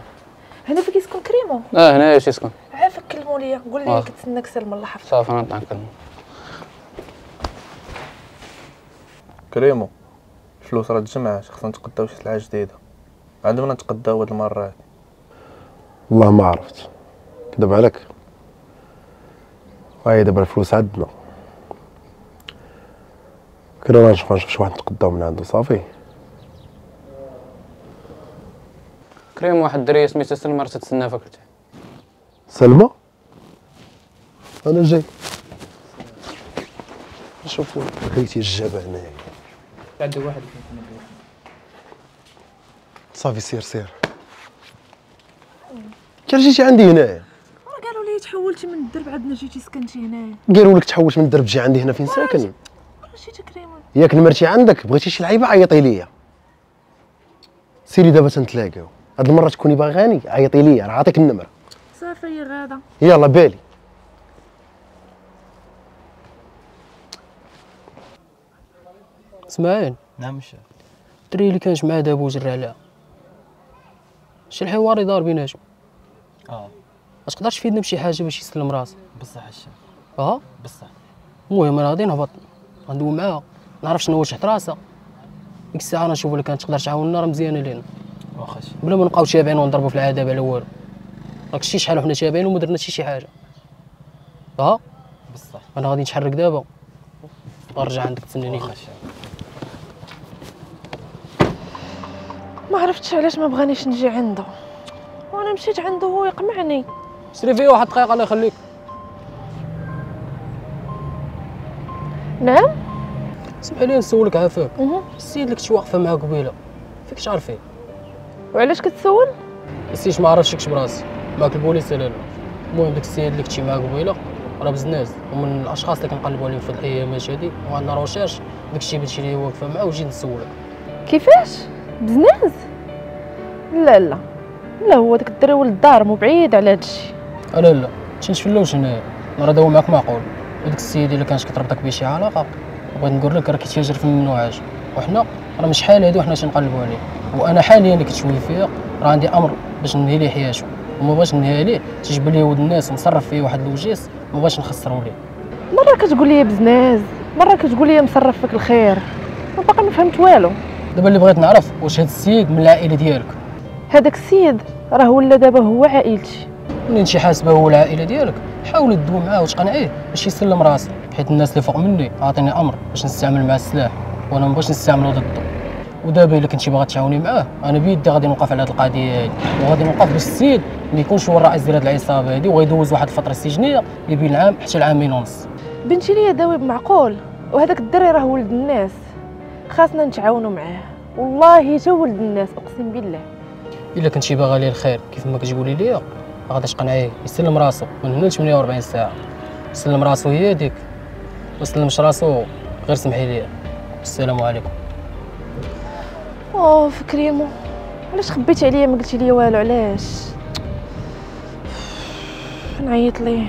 Speaker 17: هنا فين كيسكن كريمو؟
Speaker 15: هنايا تيسكن.
Speaker 17: عافاك كلموا ليا، قول لي كتسناك سلمى الله يحفظك.
Speaker 15: صافي انا نطلع نكلمو.
Speaker 18: كريمو الفلوس راه تجمعات، خصنا نتقداو شي سلعه جديدة، عندنا نتقداو هاد المرة هادي.
Speaker 3: والله ما عرفت، كذب عليك. هاي دابا الفلوس عندنا، كنا نشوف شي واحد نتقداو من عنده. صافي
Speaker 15: كريم، واحد الدريه سميتها سلمى راه تتسنى فيك لتحت.
Speaker 3: سلمى؟ انا جاي نشوفو خيتي الجبل هنايا.
Speaker 1: عنده واحد.
Speaker 3: صافي سير سير. انت جيتي عندي هنايا؟
Speaker 17: راه قالوا لي تحولتي من الدرب عندنا جيتي سكنتي هنايا.
Speaker 3: قالوا لك تحولت من الدرب تجي عندي هنا؟ فين ساكن؟
Speaker 17: جيتي كريم
Speaker 3: ياك نمرتي عندك، بغيتي شي لعيبة عيطي ليا. سيري دابا تنتلاقاو، هاد المرة تكوني باغاني عيطي ليا، راه عاطيك النمرة.
Speaker 17: صافي يا غاده.
Speaker 3: يلا بالي.
Speaker 15: اسماعيل.
Speaker 16: نعم الشيخ.
Speaker 15: الدري اللي كانت معاه دابا وجرى عليها، شي الحوار يدار بيناتهم. ما تقدرش تفيدنا بشي حاجة باش يسلم راسو؟
Speaker 16: بصح الشيخ. بصح.
Speaker 15: المهم انا غادي نهبط غندوي معاها، نعرف شنو هو تحت راسها، ديك الساعة نشوف الا كانت تقدر تعاوننا راه مزيانه لينا.
Speaker 16: واخا
Speaker 15: بلا ما نبقاو تابعين ونضربوا في العذاب على والو. راك شتي شحال وحنا تابعين وما درنا حتى شي حاجة.
Speaker 16: بصح.
Speaker 15: انا غادي نتحرك دابا، غنرجع عندك تسناني.
Speaker 17: ما عرفتش علاش ما بغانيش نجي عنده، وانا مشيت عنده هو يقمعني.
Speaker 15: شري فيه واحد الدقيقة الله يخليك.
Speaker 17: نعم.
Speaker 15: سمح لي نسولك عافاك، السيد اللي كنتي واقفة معاه قبيلة فيك تعرفيه؟
Speaker 17: وعلاش كتسول؟
Speaker 15: السيد ما عرفتش براسي معاك البوليس ولا لا. المهم داك السيد اللي كنتي معاه قبيلة راه بزناز ومن الاشخاص اللي كنقلبوا عليهم في هاد الايامات هادي، وعندنا recherche داكشي بنتي اللي واقفة معاه، وجيت نسولك.
Speaker 17: كيفاش بزناز؟ لا لا لا، هو داك الدري ولد الدار مو بعيد على هادشي.
Speaker 15: لا لا تنتفلاوش هنايا، راه داو معاك معقول. وداك السيد الا كانت كتربطك بيه شي علاقة، بغيت نقول لك راه كيتاجر في الممنوعات، وحنا راه من شحال هادي وحنا تنقلبوا عليه. وانا حاليا اللي كتشوفي فيا راه عندي امر باش ننهي ليه حياته، وما بغيتش ننهي ليه تيجبر ليه ولد الناس ومصرف فيه واحد الوجيس، ما بغيتش نخسروا ليه.
Speaker 17: مرة كتقول لي بزناز، مرة كتقول لي مصرف فيك الخير، وباقي ما فهمت والو.
Speaker 15: دابا اللي بغيت نعرف واش هاد السيد من العائلة ديالك؟
Speaker 17: هذاك السيد راه ولا دابا هو عائلتي.
Speaker 15: منين انت حاسبه هو العائلة ديالك، حاولي تدوي معاه وتقنعيه باش يسلم راسه، حيت الناس اللي فوق مني عاطيني امر باش نستعمل معاه السلاح، وانا ما بغيتش نستعملو ضده. ودابا الا كنتي باغا تعاوني معاه، انا بيدي غادي نوقف على هاد القضية هادي، وغادي نوقف باش السيد ما يكونش هو الرئيس ديال هاد العصابة هادي، وغيدوز واحد الفترة السجنيه اللي بين العام حتى العامين ونص.
Speaker 17: بنتي ليا داوي بمعقول، وهذاك الدري راه ولد الناس، خاصنا نتعاونوا معاه. والله تا ولد الناس اقسم بالله.
Speaker 15: الا كنتي باغا ليه الخير كيف ما كتقولي ليا، غادي تقنعيه يسلم راسو من هنا ل 48 ساعة. سلم راسو هي هذيك، ما سلمش راسو غير سمحي لي. السلام عليكم.
Speaker 17: اوف كريمو، علاش خبيتي عليا ما قلتي لي والو؟ علاش؟ نعيط ليه.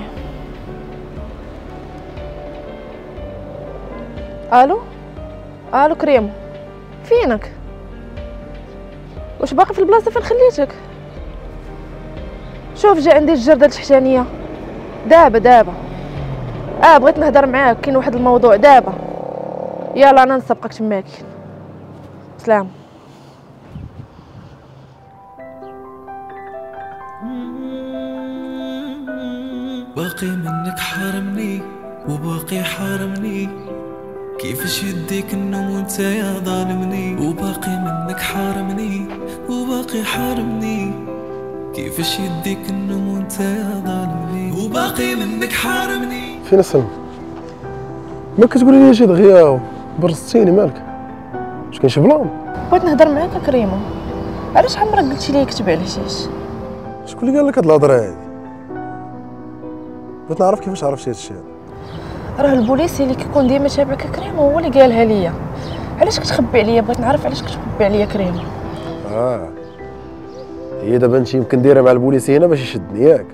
Speaker 17: الو الو كريمو، فينك؟ واش باقي في البلاصة فين خليتك؟ شوف جا عندي الجرده التحتانيه دابا دابا. بغيت نهضر معاك، كاين واحد الموضوع دابا. يلا انا نسبقك تماك. سلام.
Speaker 19: باقي منك حارمني وباقي حارمني، كيفاش يديك النوم وانت يا ظالمني؟ وباقي منك حارمني وباقي حارمني، كيفاش يديك النوم وانت يا ظالمني؟ وباقي منك حارمني.
Speaker 3: فين سلمى؟ ما كتقولي لي شي دغيا برزتيني، مالك؟ واش كاين شي plan؟
Speaker 17: بغيت نهضر معاك كريمة. علاش عمرك قلتي لي كتب على الحشيش؟
Speaker 3: شكون اللي قال لك هاد الهضرة هادي؟ بغيت نعرف كيفاش عرفتي هادشي هذا.
Speaker 17: راه البوليسي اللي كيكون ديما تابعك كريمة هو اللي قالها ليا. علاش كتخبي عليا؟ بغيت نعرف علاش كتخبي عليا كريمة.
Speaker 3: هي دابا انت يمكن دايرة مع البوليسي هنا باش يشدني ياك؟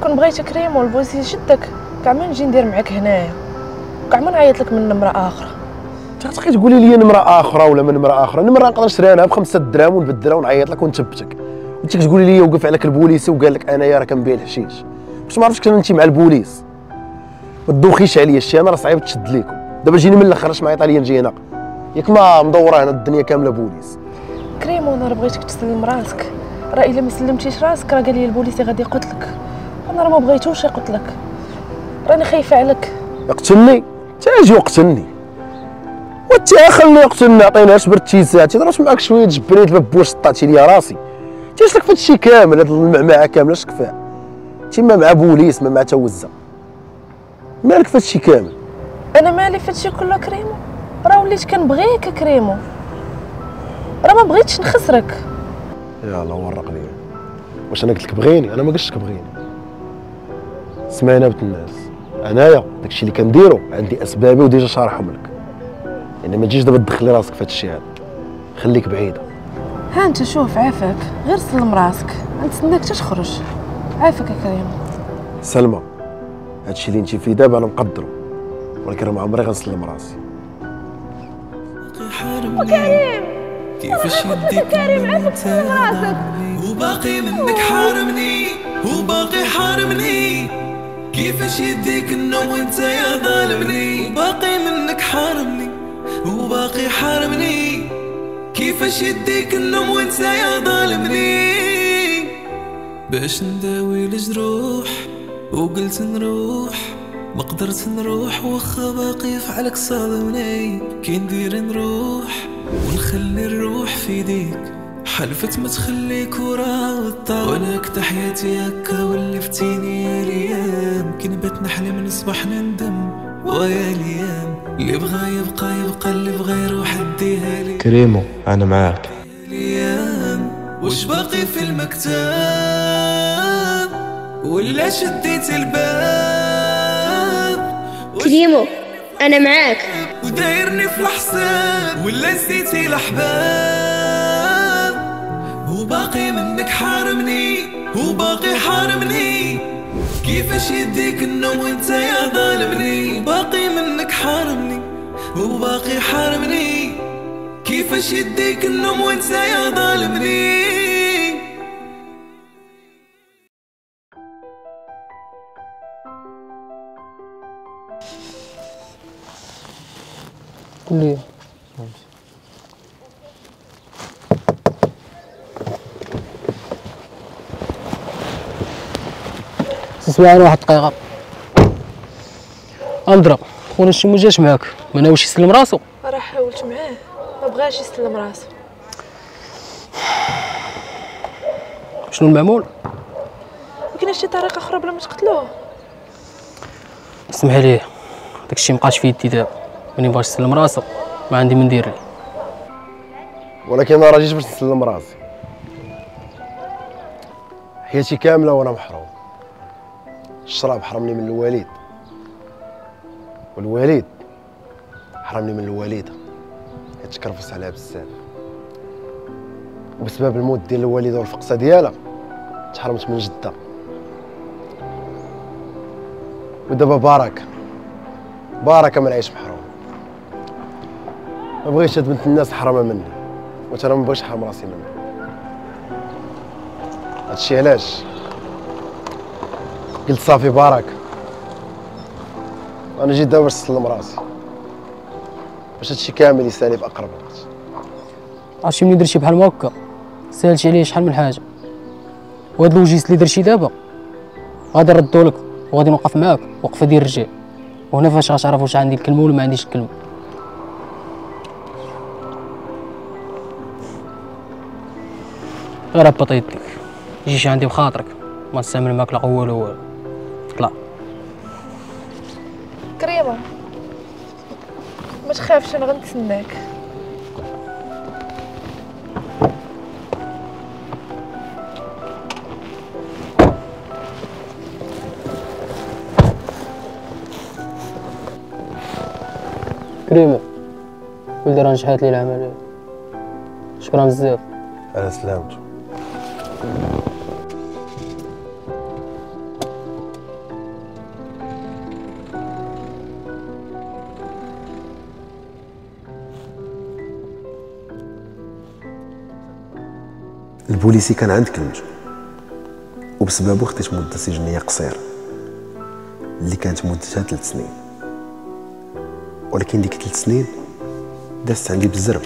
Speaker 17: كون بغيت كريمو البوليسي يشدك كاع ما نجي ندير معاك هنايا، كاع ما نعيط لك من نمره اخرى.
Speaker 3: تبقاي تقولي لي نمره اخرى ولا من نمره اخرى؟ نمره نقدر نشريها انا ب5 دراهم ونبدلها ونعيط لك ونثبتك. انت كتقولي لي وقف عليك البوليسي وقال لك انايا راه كنبيع الحشيش، باش ما عرفتش انت مع البوليس. ما تدوخيش عليا الشيء، انا راه صعيب تشد ليكم. دابا جيني من الاخر اش معيط عليا نجي هنا؟ ياك ما مدورة هنا الدنيا كاملة بوليس.
Speaker 17: كريمو انا راه بغيتك تسلم راسك، راه الا ما سلمتيش راسك راه قال لي البوليسي غادي يقتلك. انا راه ما بغيتوش يقتلك، راني خايفة عليك.
Speaker 3: يقتلني؟ تاجي وقتلني. وانت خليني يقتلني، عطيناش برتي ساعتي ضربت معاك شوية جبريت ببوش طعتي لي راسي. انت اش لك في هادشي كامل، هاد المعمعة كاملة اش كفاها؟ انت ما مع بوليس ما مع توزه، مالك في هادشي كامل؟
Speaker 17: انا مالي في هادشي كله كريمو، راه وليت كنبغيك كريمو، راه ما بغيتش نخسرك.
Speaker 3: يلا ورق لي، واش انا قلت لك بغيني؟ انا ما قلتش لك بغيني. سمعنا بنت الناس، انايا داكشي اللي كنديرو عندي اسبابي و déjà شارحهم لك، يعني ما تجيش دابا تدخلي راسك في هادشي هذا، خليك بعيدة.
Speaker 17: ها انت شوف عافاك، غير سلم راسك، نتسناك حتى تخرج. عافاك يا كريم.
Speaker 3: سلمى هادشي اللي انت فيه دابا انا مقدرو، ولكن راه ما عمري غنسلم راسي.
Speaker 7: وكريم
Speaker 19: كيفاش يديك
Speaker 7: كريم عافاك سلم راسك.
Speaker 19: وباقي منك حارمني، وباقي حارمني، كيفاش يديك النوم وانت يا ظالمني. وباقي منك حارمني، وباقي حارمني، كيفاش يديك النوم وانت يا ظالمني. باش نداوي الجروح وقلت نروح، ما قدرت نروح واخا باقي فعلك صادمني. كي ندير نروح ونخلي الروح في يديك، حلفت ما تخليك ورا والطار. وانا كتا حياتي هكا ولفتيني يا ليام، كي نبات نحلم نصبح نندم ويا ليام. اللي بغا يبقى يبقى، اللي بغا يروح اديها لي.
Speaker 20: كريمو انا معاك.
Speaker 19: ليام واش باقي في المكتب ولا شديت الباب؟
Speaker 6: كريمو انا معاك.
Speaker 19: ودايرني في الحساب ولا نسيتي الاحباب؟ وباقي منك حارمني، وباقي حارمني، كيفاش يديك النوم وانت يا ظالمني. وباقي منك حارمني، وباقي حارمني، كيفاش يديك النوم وانت يا ظالمني.
Speaker 15: قول لي تسمعني واحد الدقيقة. اندرا خونا شي ما جاش معاك، ما ناويش يسلم راسو؟
Speaker 17: راه حاولت معاه ما بغاش يسلم راسو.
Speaker 15: شنو المعمول؟
Speaker 17: ما كاينش شي طريقة أخرى بلا ما تقتلوه؟
Speaker 15: سمح لي داكشي مابقاش في يدي دابا، ملي بغاش يسلم راسو ما عندي ما ندير ليه.
Speaker 3: ولكن انا راه جيت باش نسلم راسي، حياتي كاملة وانا محروم. الشراب حرمني من الوالد، والوالد حرمني من الوالدة، حيت تكرفس عليها بزاف. وبسبب الموت ديال الوالدة والفقصه ديالها تحرمت من جده. ودابا بركة بركة ما نعيش محروم. ما بغيتش هاد بنت الناس حرمها مني، وأنا ما بغيتش نحرم راسي منها. هادشي علاش قلت صافي بركة، انا جيت دابا باش نسلم راسي، باش هادشي كامل يسالي في اقرب وقت.
Speaker 15: عرفتي ملي درتي بحال هكا سالتي عليه شحال من حاجة، وهاد الوجيس اللي درتي دابا غادي نردو لك وغادي نوقف معاك وقفه ديال الرجال، وهنا فاش غتعرف واش عندي الكلمة ولا ما عنديش الكلمة. غير هبط يديك، جيش عندي بخاطرك، ما نستعمل معاك لا قوة لا والو. طلع
Speaker 17: كريمة ما تخافش انا غنتسناك.
Speaker 15: كريمة ولدي راه نجحات لي العملية، شكرا بزاف.
Speaker 3: على سلامته. البوليسي كان عند كلمته، وبسببه خديت مده سجنيه قصيرة اللي كانت مدتها 3 سنين، ولكن ديك 3 سنين دازت عندي بالزرب،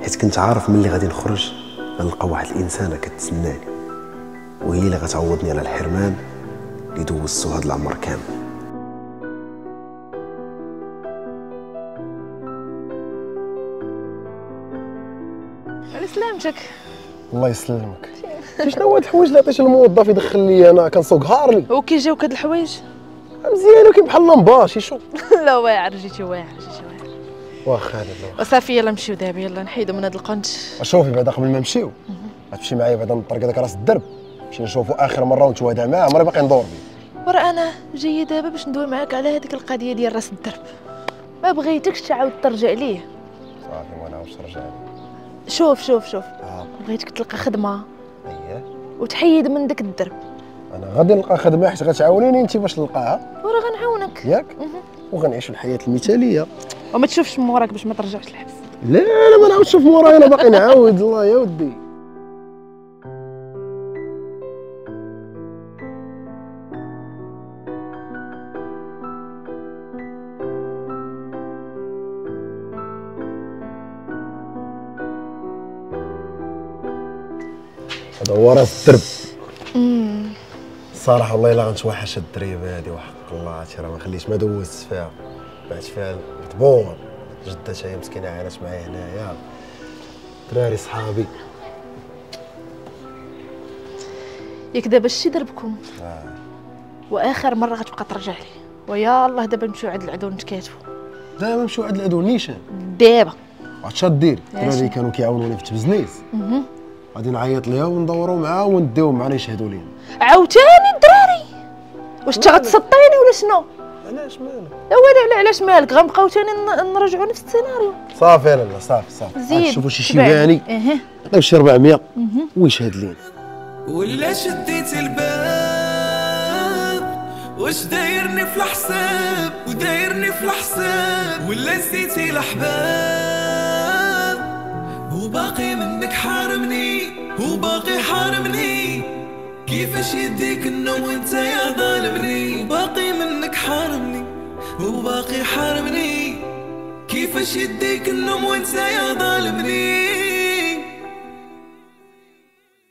Speaker 3: حيت كنت عارف ملي غادي نخرج غنلقى واحد الانسانة كتسناني، وهي اللي غتعوضني على الحرمان اللي دوزتو هاد العمر كامل.
Speaker 17: على سلامتك.
Speaker 3: الله يسلمك. شنو هو هاد الحوايج اللي عطيتي للموظف يدخل لي انا كنسوق هارلي؟
Speaker 17: وكي جاوك هاد الحوايج؟
Speaker 3: مزيان ولكن بحال لمباشي شو.
Speaker 17: لا واعر جيتي واعر جيتي واعر.
Speaker 3: واخا لالا
Speaker 17: وصافي يلا نمشيو دابا، يلا نحيدو من هاد القنت.
Speaker 3: شوفي بعدا قبل ما نمشيو غتمشي معايا بعدا نطرق هذاك راس الدرب، نمشي نشوفو اخر مرة ونتوادع معاه، عمري باقي ندور بيه.
Speaker 17: ورا انا جاية دابا باش ندوي معاك على هذيك القضية ديال راس الدرب، ما بغيتكش تعاود ترجع ليه.
Speaker 3: صافي ما نعاودش نرجع ليه.
Speaker 17: شوف شوف شوف، بغيتك تلقى خدمة.
Speaker 3: اييه.
Speaker 17: وتحيد من داك الدرب.
Speaker 3: انا غادي نلقى خدمة حيت غتعاونيني انت باش نلقاها.
Speaker 17: ورا غنعاونك.
Speaker 3: ياك؟ وغنعيشوا الحياة المثالية.
Speaker 17: وما تشوفش من وراك باش ما ترجعش الحبس.
Speaker 3: لا لا ما نعاودش نشوف مورايا، انا باقي نعاود. الله يا ودي. هذا هو راس الدرب. الصراحة والله الا غنتوحش الدريبه هذه وحق الله، عرفتي راه ما خليت ما دوزت فيها، بعت فيها الطبون. جدتها هي مسكينه عانت معايا هنايا، دراري صحابي.
Speaker 17: ياك دابا شتي دربكم. واخر مرة غتبقى ترجع لي، ويا الله دابا نمشيو عند العدو نتكاتفوا.
Speaker 3: دابا نمشيو عند العدو نيشان
Speaker 17: دابا.
Speaker 3: عرفتي اش ديري؟ الدراري كانوا كيعاونوني في التبزنيس، غادي نعيط ليها وندوروا معاها ونديهم معنا يشهدوا لينا.
Speaker 17: عاوتاني الدراري؟ واش انت غتسطيني ولا شنو؟
Speaker 3: علاش مالك؟
Speaker 17: لا ولا لا علاش مالك؟ غنبقاو ثاني نرجعوا نفس السيناريو.
Speaker 3: صافي لا صافي صافي.
Speaker 17: زيد
Speaker 3: شوفوا شي شيباني عطيو شي 400 ويشهد لينا.
Speaker 19: ولا شديت الباب واش دايرني في الحساب ودايرني في الحساب، ولا نسيتي الاحباب وباقي منك حارمني وباقي حارمني، كيفاش يديك النوم وانت يا ظالمني، وباقي منك حارمني وباقي حارمني، كيفاش يديك النوم وانت يا ظالمني.